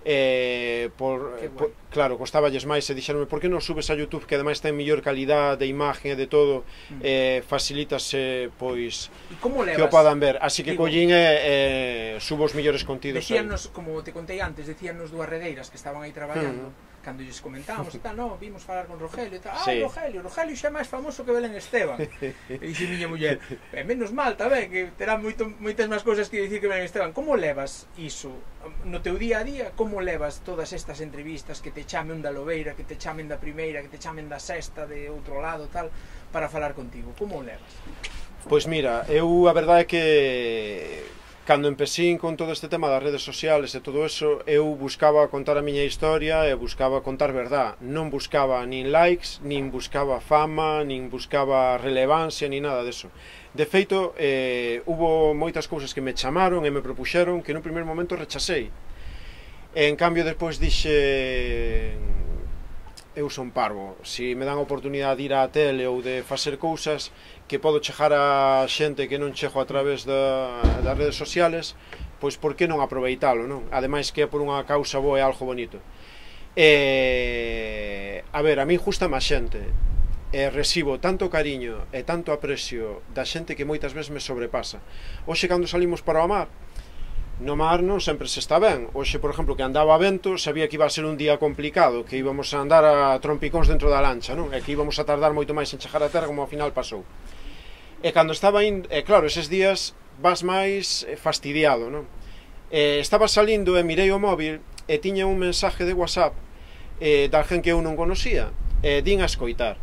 Eh, por, por, claro, costaballes máis e dixeronme, por que non subes a YouTube, que ademais ten mellor calidad de imagen e de todo, mm. eh, facilítase pois que o podan ver, así que collín e eh, subo os mellores contidos. Decíanos, como te contei antes, decíanos dúas redeiras que estaban aí traballando, mm. cando lles comentábamos e tal, no, vimos falar con Rogelio e tal, ah, sí. Rogelio, Rogelio xa é máis famoso que Belén Esteban. E dixe miña muller, e menos mal tamén, que terá moito, moitas máis cousas que dicir que Belén Esteban. Como levas iso no teu día a día? Como levas todas estas entrevistas, que te chamen da Lobeira, que te chamen da primeira, que te chamen da sexta, de outro lado, tal, para falar contigo? Como levas? Pois mira, eu a verdade é que cando empecín con todo este tema das redes sociales e todo eso, eu buscaba contar a miña historia e buscaba contar verdad. Non buscaba nin likes, nin buscaba fama, nin buscaba relevancia, nin nada deso. De feito, eh, hubo moitas cousas que me chamaron e me propuxeron que no primeiro momento rechasei. E en cambio, despois dixe, eu son parvo. Si me dan a oportunidade de ir á tele ou de facer cousas que podo chegar a xente que non chego a través da, das redes sociales, pois por que non aproveitalo, non? Ademais que é por unha causa boa e algo bonito. E, a ver, a mí justame a xente, e recibo tanto cariño e tanto aprecio da xente que moitas veces me sobrepasa. Hoxe, cando salimos para o mar, no mar non sempre se está ben. Hoxe, por exemplo, que andaba a vento, sabía que iba a ser un día complicado, que íbamos a andar a trompicóns dentro da lancha, non? E que íbamos a tardar moito máis en chegar a terra, como ao final pasou. E cando estaba indo, e claro, eses días vas máis fastidiado, non? E estaba salindo e mirei o móvil e tiña un mensaje de WhatsApp eh, de alguén que eu non conocía, e din a escoitar.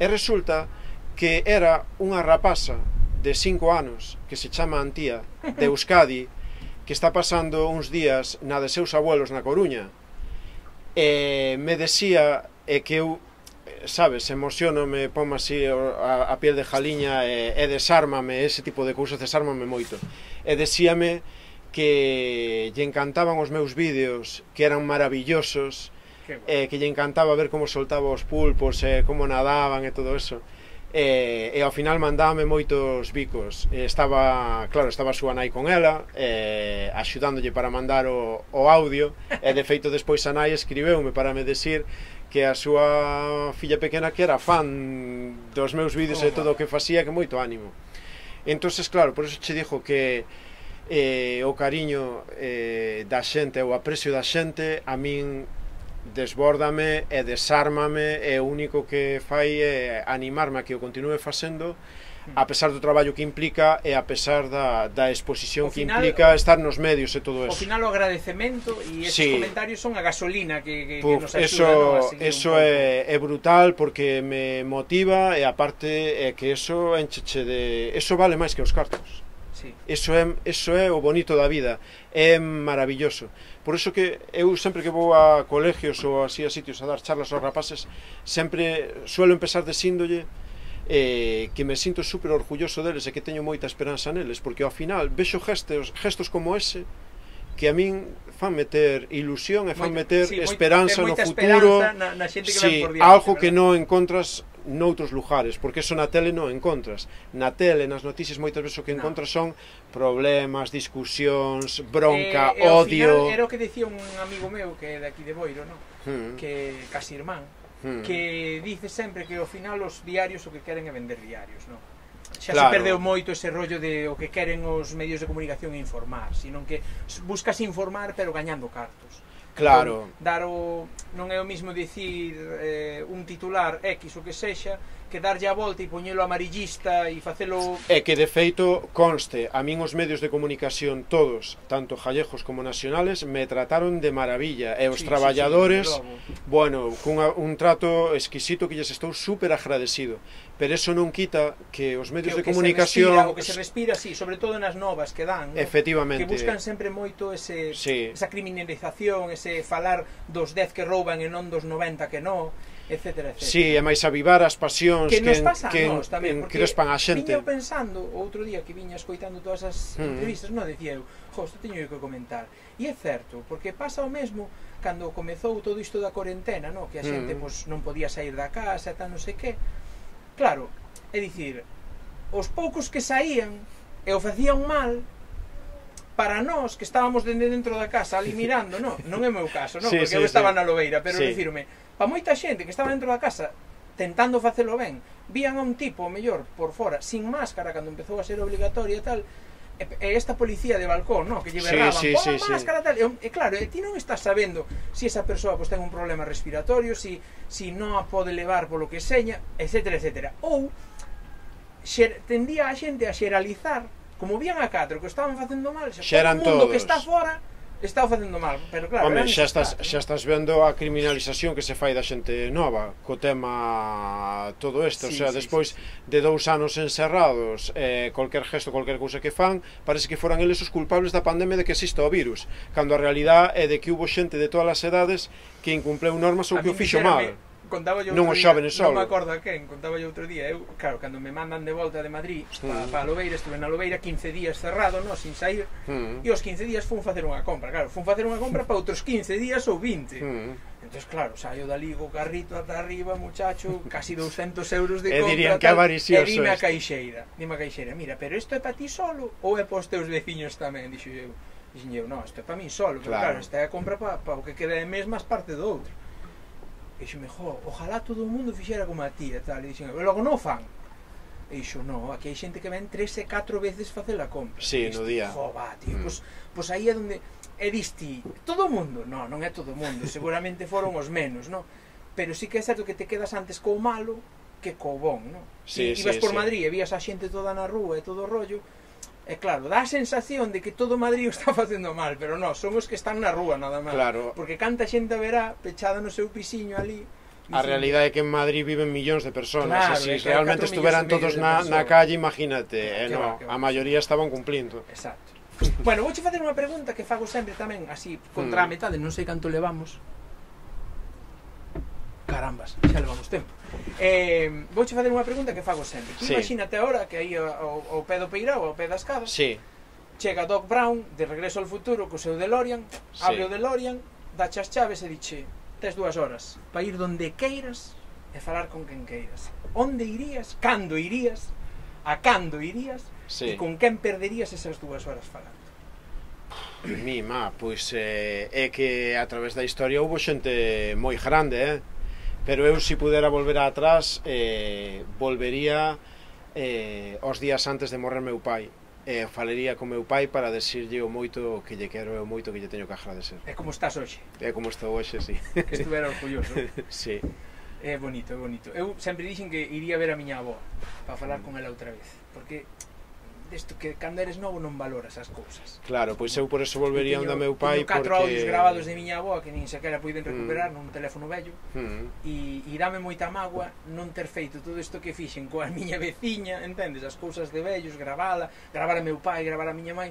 E resulta que era unha rapaza de cinco anos que se chama Antía, de Euskadi, que está pasando uns días na de seus abuelos na Coruña, e me decía e que eu, sabes, emocionome, ponme así a, a piel de jaliña e, e desármame, ese tipo de cousas desármame moito, e decíame que lle encantaban os meus vídeos, que eran maravillosos, e que lle encantaba ver como soltaba os pulpos e como nadaban e todo eso. E, e ao final mandábame moitos bicos. E estaba, claro, estaba a súa nai con ela, e, axudándolle para mandar o, o audio, e de feito despois a nai escribeume para me decir que a súa filla pequena que era fan dos meus vídeos e todo o que facía, que moito ánimo. Entonces, claro, por eso che dixo que eh, o cariño eh, da xente, o aprecio da xente, a min desbórdame e desármame, e o único que fai é animarme a que o continue facendo, a pesar do traballo que implica e a pesar da, da exposición que final, implica estar nos medios e todo eso. Ao final o agradecemento e estes sí. comentarios son a gasolina que, que, Puf, que nos axuda, eso, ¿no? a seguir eso é, é brutal, porque me motiva, e aparte é que eso encheche de... eso vale máis que os cartos. Sí. Eso é, eso é o bonito da vida, é maravilloso. Por iso que eu sempre que vou a colegios ou así a sitios a dar charlas aos rapaces, sempre suelo empezar dicíndolle eh, que me sinto super orgulloso deles e que teño moita esperanza neles, porque ao final vexo gestos, gestos como ese que a min fan meter ilusión e fan meter sí, esperanza no futuro, na, na xente que sí, por diante, algo ¿verdad? que non encontras noutros lugares, porque eso na tele non encontras. Na tele, nas noticias, moitas veces o que encontras no. son problemas, discusións, bronca, eh, odio. Final, era o que decía un amigo meu que é de aquí de Boiro, no? Hmm. que casi irmán, hmm. que dice sempre que ao final os diarios o que queren é vender diarios, no? Xa claro. se perdeu moito ese rollo de o que queren os medios de comunicación informar, sino que buscas informar pero gañando cartos. Claro. Dar o, non é o mismo dicir eh, un titular X o que sexa, que darlle a volta e poñelo amarillista e facelo... É que de feito conste, a min os medios de comunicación todos, tanto gallegos como nacionales, me trataron de maravilla, e os sí, traballadores, sí, sí, bueno, cun un trato exquisito que lles estou super agradecido, pero eso non quita que os medios que, de comunicación... Respira, o que se respira, sí, sobre todo nas novas que dan, ¿no? Efectivamente. Que buscan sempre moito ese, sí. esa criminalización, ese falar dos dez que rouban e non dos noventa que non, etcétera, etcétera. Sí, e máis avivar as pasións que nos pasa que, a nos tamén, porque crespan a xente. Viña pensando, outro día que viña escoitando todas as mm. entrevistas, non decía eu, jo, isto teño que comentar. E é certo, porque pasa o mesmo cando comezou todo isto da cuarentena, no? Que a xente mm. pues, non podía sair da casa e tal, non sei que. Claro, é dicir, os poucos que saían e o facían mal, para nós que estábamos dende dentro da casa ali mirando, non, non é o meu caso, non, sí, porque sí, eu estaba sí. na lobeira, pero sí. dicirme, para moita xente que estaba dentro da casa tentando facelo ben, vían a un tipo mellor por fora, sin máscara, cando empezou a ser obligatoria e tal, e, e esta policía de balcón, no, que lle berraban, sí, sí, pon sí, máscara sí. tal, e, e claro, e ti non estás sabendo se si esa persoa pues, ten un problema respiratorio, si, si non a pode levar polo que seña, etcétera, etcétera, ou xer, tendía a xente a xeralizar, como vían a catro que estaban facendo mal, xa, todo o mundo todos. que está fora está facendo mal, pero claro, Home, xa estás, xa estás vendo a criminalización que se fai da xente nova co tema todo isto, sí, o sea, sí, despois sí, sí. de dous anos encerrados, eh, cualquier gesto, cualquier cousa que fan, parece que foran eles os culpables da pandemia de que exista o virus, cando a realidade é de que hubo xente de todas as edades que incumpleu normas ou que o fixo mal. Contaba yo non os xóvenes só. Non me acordo a quen, contaba yo outro día. Eu, claro, cando me mandan de volta de Madrid mm. para pa Lobeira, estuve na Lobeira quince días cerrado, no, sin sair, mm. e os quince días fun facer unha compra. Claro, fun facer unha compra para outros quince días ou vinte. Mm. Entón, claro, saio dali co carrito ata arriba, muchacho, casi doscientos euros de compra. E dirían que avaricioso. E dime a caixeira, dime a caixeira, mira, pero isto é para ti solo ou é para os teus veciños tamén? Dixo eu, dixen eu, non, isto é para mí solo, pero claro, claro esta é a compra para pa o que queda de mes máis parte do outro. E dixo, jo, ojalá todo o mundo fixera como a ti e tal, e dixen, e logo non fan. E dixo, no, aquí hai xente que ven tres e catro veces facer a compra. Sí, dixo, no día. Jo, va, tío, mm. pues, pues aí é onde, e disti, todo o mundo? No, non é todo o mundo, seguramente foron os menos, no? Pero sí que é certo que te quedas antes co malo que co bon, no? Sí, e ibas sí, por sí. Madrid e vías a xente toda na rúa e todo o rollo, e claro, dá a sensación de que todo Madrid o está facendo mal, pero non, son os que están na rúa nada máis. Claro. Porque canta xente verá pechada no seu pisiño ali, A realidade é que en Madrid viven millóns de personas, Claro, e é se que hai realmente catro estuveran millóns e medio todos de na, na persoas. calle, imagínate, eh, Que no, va, que va. a maioría estaban cumplindo. Exacto. Bueno, vouche facer unha pregunta que fago sempre tamén, así, contra a Mm. metade, non sei canto levamos. Carambas, xa levamos tempo. Eh, vouche facer unha pregunta que fago sempre. Tú Sí. imagínate agora que aí ao, ao pé do Peirao, ao pé das casas, Sí, chega Doc Brown, de Regreso ao Futuro, co seu DeLorean, Sí. abre o DeLorean, dache as chaves e diche, tes dúas horas para ir donde queiras e falar con quen queiras. Onde irías, cando irías, a cando irías, sí. e con quen perderías esas dúas horas falando. Mima, pois eh, é que a través da historia houve xente moi grande, eh? Pero eu, se pudera volver atrás, eh, volvería eh, os días antes de morrer meu pai. E eh, falaría con meu pai para decirlle o moito que lle quero e o moito que lle teño que agradecer. É como estás hoxe, É como estou hoxe, sí. que estuvera orgulloso. Sí. É bonito, é bonito. Eu sempre dixen que iría ver a miña avó para falar con ela outra vez, porque desto que cando eres novo non valoras as cousas. Claro, pois eu por eso volvería onde meu teño pai, catro porque... audios grabados de miña avó que nin sequera puiden recuperar mm. nun teléfono vello. Mm. E, e dame moita mágoa non ter feito todo isto que fixen coa miña veciña, entendes? As cousas de vellos, gravala, gravar a meu pai, gravar a miña mãe.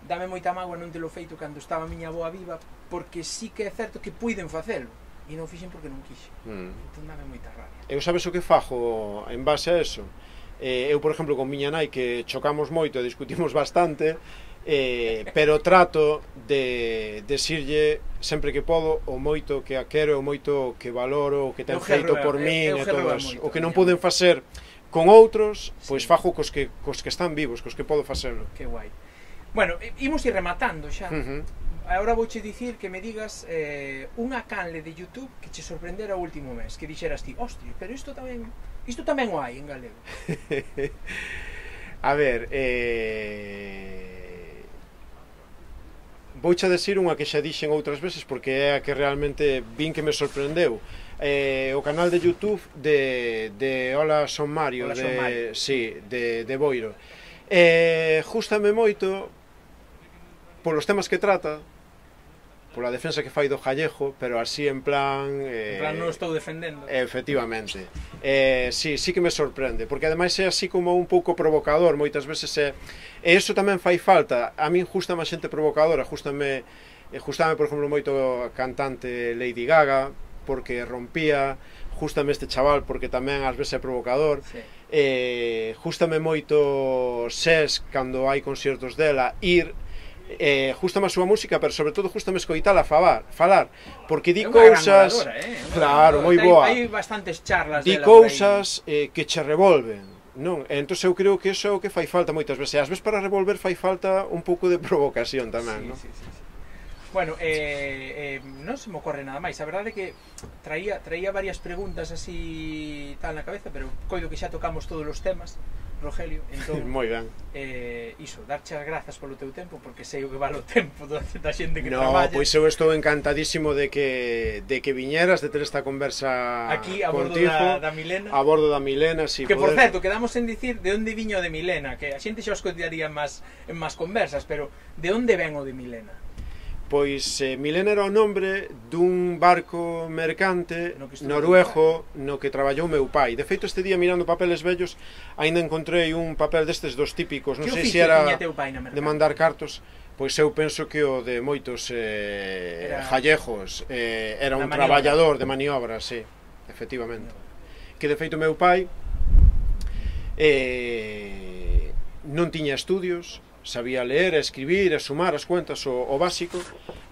Dame moita mágoa non telo feito cando estaba a miña avoa viva, porque sí que é certo que puiden facelo e non fixen porque non quixen. Mm. Entón dame moita rabia. Eu sabes o que fajo en base a eso? Eh, eu, por exemplo, con miña nai, que chocamos moito e discutimos bastante, eh, pero trato de decirlle sempre que podo o moito que a quero, o moito que valoro, o que ten Eu feito gerro- por eu- min eu e gerro todo moito, eso. O que non miña poden nai. facer con outros, pois Sí. fajo cos que, cos que están vivos, cos que podo facelo. Que guai. Bueno, i- imos ir rematando xa. Uh -huh. Agora vouche dicir que me digas eh, unha canle de YouTube que che sorprendera o último mes, que dixeras ti, hostia, pero isto tamén isto tamén o hai en galego. A ver, eh... vouche a decir unha que xa dixen outras veces porque é a que realmente vin que me sorprendeu. Eh, o canal de YouTube de, de Hola Son Mario, Hola, de, Son Mario. sí, de, de Boiro. Eh, justame moito polos temas que trata, pola defensa que fai do Jallejo, pero así en plan... Eh, En plan, non estou defendendo. Efectivamente. Eh, sí, sí que me sorprende, porque ademais é así como un pouco provocador, moitas veces é... E iso tamén fai falta. A min justame a xente provocadora, justame, justame por exemplo, moito a cantante Lady Gaga, porque rompía, justame este chaval, porque tamén ás veces é provocador. Sí. Eh, justame moito Ses, cando hai conciertos dela, ir... Eh, justame a súa música, pero sobre todo justame escoitala falar, falar, porque di É unha gran cousas, oradora, eh? Unha claro, gran moi oradora. boa. Hai, hai bastantes charlas Di dela por aí. cousas eh, que che revolven, non? E entón eu creo que iso é o que fai falta moitas veces. E ás veces para revolver fai falta un pouco de provocación tamén, Sí, non? sí, sí, sí. Bueno, eh, eh, non se me ocorre nada máis. A verdade é que traía, traía varias preguntas así tal na cabeza, pero coido que xa tocamos todos os temas, Rogelio. Entón, Moi ben. eh, iso, darche as grazas polo teu tempo, porque sei o que vale o tempo da, da xente que No, traballa. pois eu estou encantadísimo de que de que viñeras, de ter esta conversa Aquí a bordo contigo, da, da Milena. a bordo da Milena, si Que por poder... certo, quedamos en dicir de onde viño o de Milena, que a xente xa os contaría en máis en máis conversas, pero de onde ven o de Milena? Pois eh, Milena era o nombre dun barco mercante No que estuvo noruego no que traballou meu pai. De feito, este día mirando papeles vellos, aínda encontrei un papel destes dos típicos, non Que sei se oficio era tiña teu pai na mercante? de mandar cartos. Pois eu penso que o de moitos eh, Era- jallejos eh, era Na un maniobra. traballador de maniobra, sí, efectivamente. Que de feito meu pai eh, non tiña estudios, sabía ler, escribir, e sumar as cuentas, o, o básico.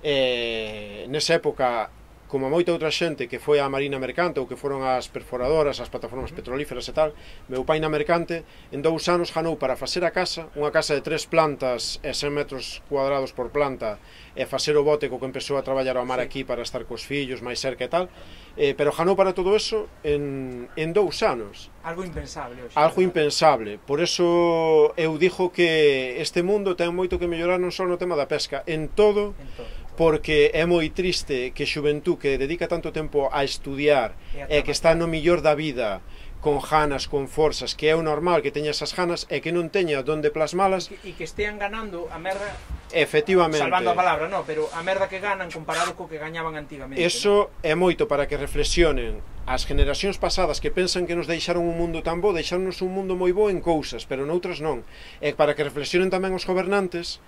E nesa época, como a moita outra xente que foi á marina mercante ou que foron as perforadoras, as plataformas petrolíferas e tal, meu pai na mercante en dous anos ganou para facer a casa, unha casa de tres plantas e cen metros cuadrados por planta, e facer o bote co que empezou a traballar ao mar Sí. aquí para estar cos fillos máis cerca e tal, eh, pero ganou para todo eso en, en dous anos. Algo impensable hoxe. Algo impensable. Por eso eu dixo que este mundo ten moito que mellorar non só no tema da pesca, en todo, En todo. porque é moi triste que xuventú que dedica tanto tempo a estudiar E a e que está no millor da vida con ganas, con forzas, que é o normal que teña esas ganas e que non teña donde plasmalas. E que estean ganando a merda, efectivamente, salvando a palabra, no, pero a merda que ganan comparado co que gañaban antigamente. Eso é moito para que reflexionen as generacións pasadas que pensan que nos deixaron un mundo tan bo, deixaronnos un mundo moi bo en cousas, pero noutras non. E para que reflexionen tamén os gobernantes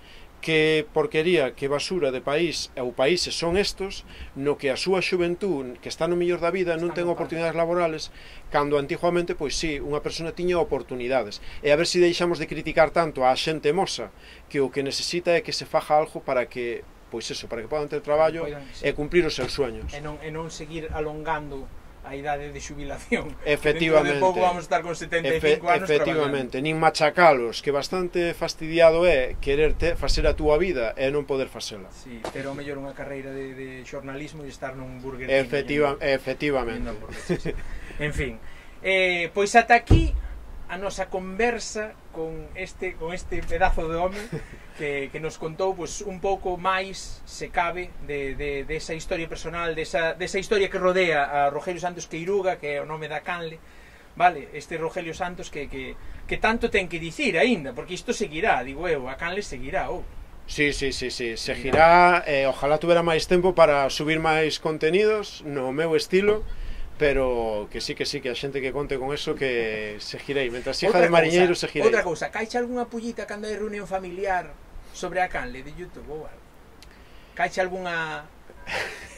que porquería, que basura de país ou países son estos no que a súa xuventud, que está no mellor da vida, non ten oportunidades laborales, cando antiguamente, pois sí, unha persona tiña oportunidades. E a ver se deixamos de criticar tanto a xente moza, que o que necesita é que se faja algo para que, pois eso, para que podan ter traballo e cumplir os seus sueños. E non, e non seguir alongando a idade de xubilación. Efectivamente. Dentro de pouco vamos estar con setenta e cinco anos efectivamente, nin machacalos, que bastante fastidiado é querer te, facer a túa vida e non poder facela. Sí, ter ao mellor unha carreira de, de xornalismo e estar nun Burger King. Efectiva, efectivamente. En fin, eh, pois ata aquí a nosa conversa con este, con este pedazo de home que, que nos contou pues, un pouco máis, se cabe, de, de, de esa historia personal, de esa, de esa historia que rodea a Rogelio Santos Queiruga, que é o nome da canle, vale? Este Rogelio Santos que, que, que tanto ten que dicir aínda, porque isto seguirá, digo eu, a canle seguirá, oh. Sí, sí, sí, sí, seguirá, eh, ojalá tuvera máis tempo para subir máis contenidos no meu estilo, pero que sí, que sí, que a xente que conte con eso que seguirei, mentras hija de mariñeiro seguirei. Outra cousa, caixe algunha pullita cando hai reunión familiar sobre a canle de YouTube ou algo? Caixe algunha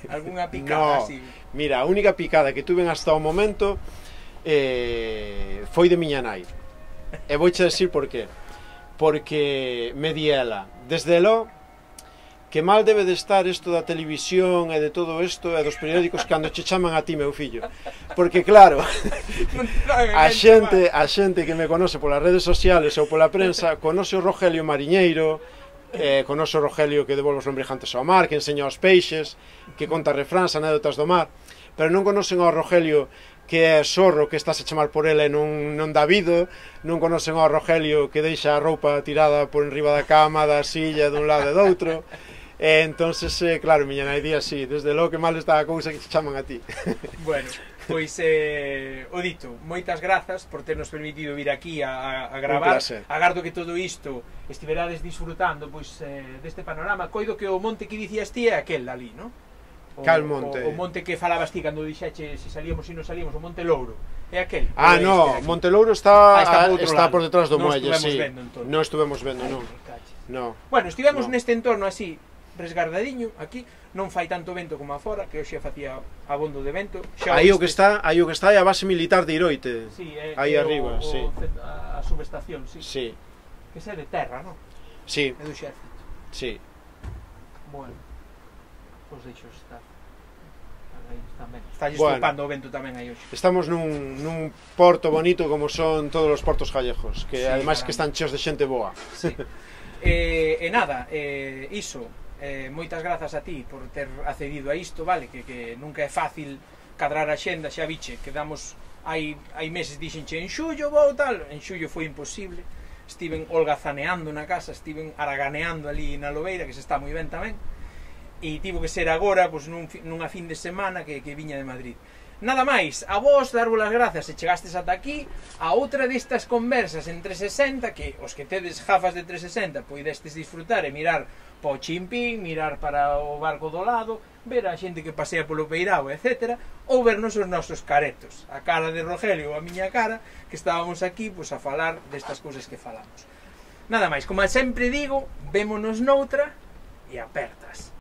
algunha picada no, así? Mira, a única picada que tuven hasta o momento eh, foi de miña nai. E vouche decir por qué. Porque me di ela, desde lo que mal debe de estar isto da televisión e de todo isto e dos periódicos cando che chaman a ti, meu fillo. Porque claro, a xente, a xente que me conoce polas redes sociales ou pola prensa, conoce o Rogelio mariñeiro, eh, conoce o Rogelio que devolve os lombrijantes ao mar, que enseña os peixes, que conta refráns, anécdotas do mar, pero non conocen ao Rogelio que é sorro, que estás a chamar por ela e non, non dá vido, non conocen ao Rogelio que deixa a roupa tirada por enriba da cama, da silla, dun lado e do outro. E entonces, eh, claro, miña nai di así, desde logo que mal está a cousa que te chaman a ti. Bueno, pois, eh, o dito, moitas grazas por ternos permitido vir aquí a, a gravar. Agardo que todo isto estiverades disfrutando pois, eh, deste panorama. Coido que o monte que dicías ti é aquel ali, non? O, Cal monte? O, o monte que falabas ti cando dixeche se salíamos e non salíamos, o Monte Louro. É aquel? Ah, no, Monte Louro está, ah, está, por, está por detrás do non muelle, sí. Vendo, non estuvemos vendo, non. No. Bueno, estivemos no. neste entorno así, resgardadiño, aquí non fai tanto vento como afora, que hoxe facía abondo de vento. Aí o que está, aí o que está é a base militar de Iroite. Sí, é, aí é arriba, o, sí. O, a, a subestación, sí. Sí. Que é de terra, non? Sí. É do exército. Sí. Bueno, pois deixo estar. Está bueno, estupando o vento tamén aí hoxe. Estamos nun, nun porto bonito como son todos os portos gallejos, que sí, ademais caramba. Que están cheos de xente boa. Sí. E eh, eh, nada, eh, iso, eh, moitas grazas a ti por ter accedido a isto, vale, que, que nunca é fácil cadrar a xenda, xa biche, quedamos hai, hai meses dixenche en xullo vou tal, en xullo foi imposible, estiven holgazaneando na casa, estiven araganeando ali na Lobeira, que se está moi ben tamén, e tivo que ser agora, pois, nun, nunha fin de semana que, que viña de Madrid. Nada máis, a vos darvos as grazas se chegastes ata aquí a outra destas conversas en trescentos e sesenta, que os que tedes gafas de trescentos e sesenta poidestes disfrutar e mirar pa o chimpín, mirar para o barco do lado, ver a xente que pasea polo peirao, etcétera, ou vernos os nosos caretos, a cara de Rogelio ou a miña cara, que estábamos aquí pois, a falar destas cousas que falamos. Nada máis, como sempre digo, vémonos noutra e apertas.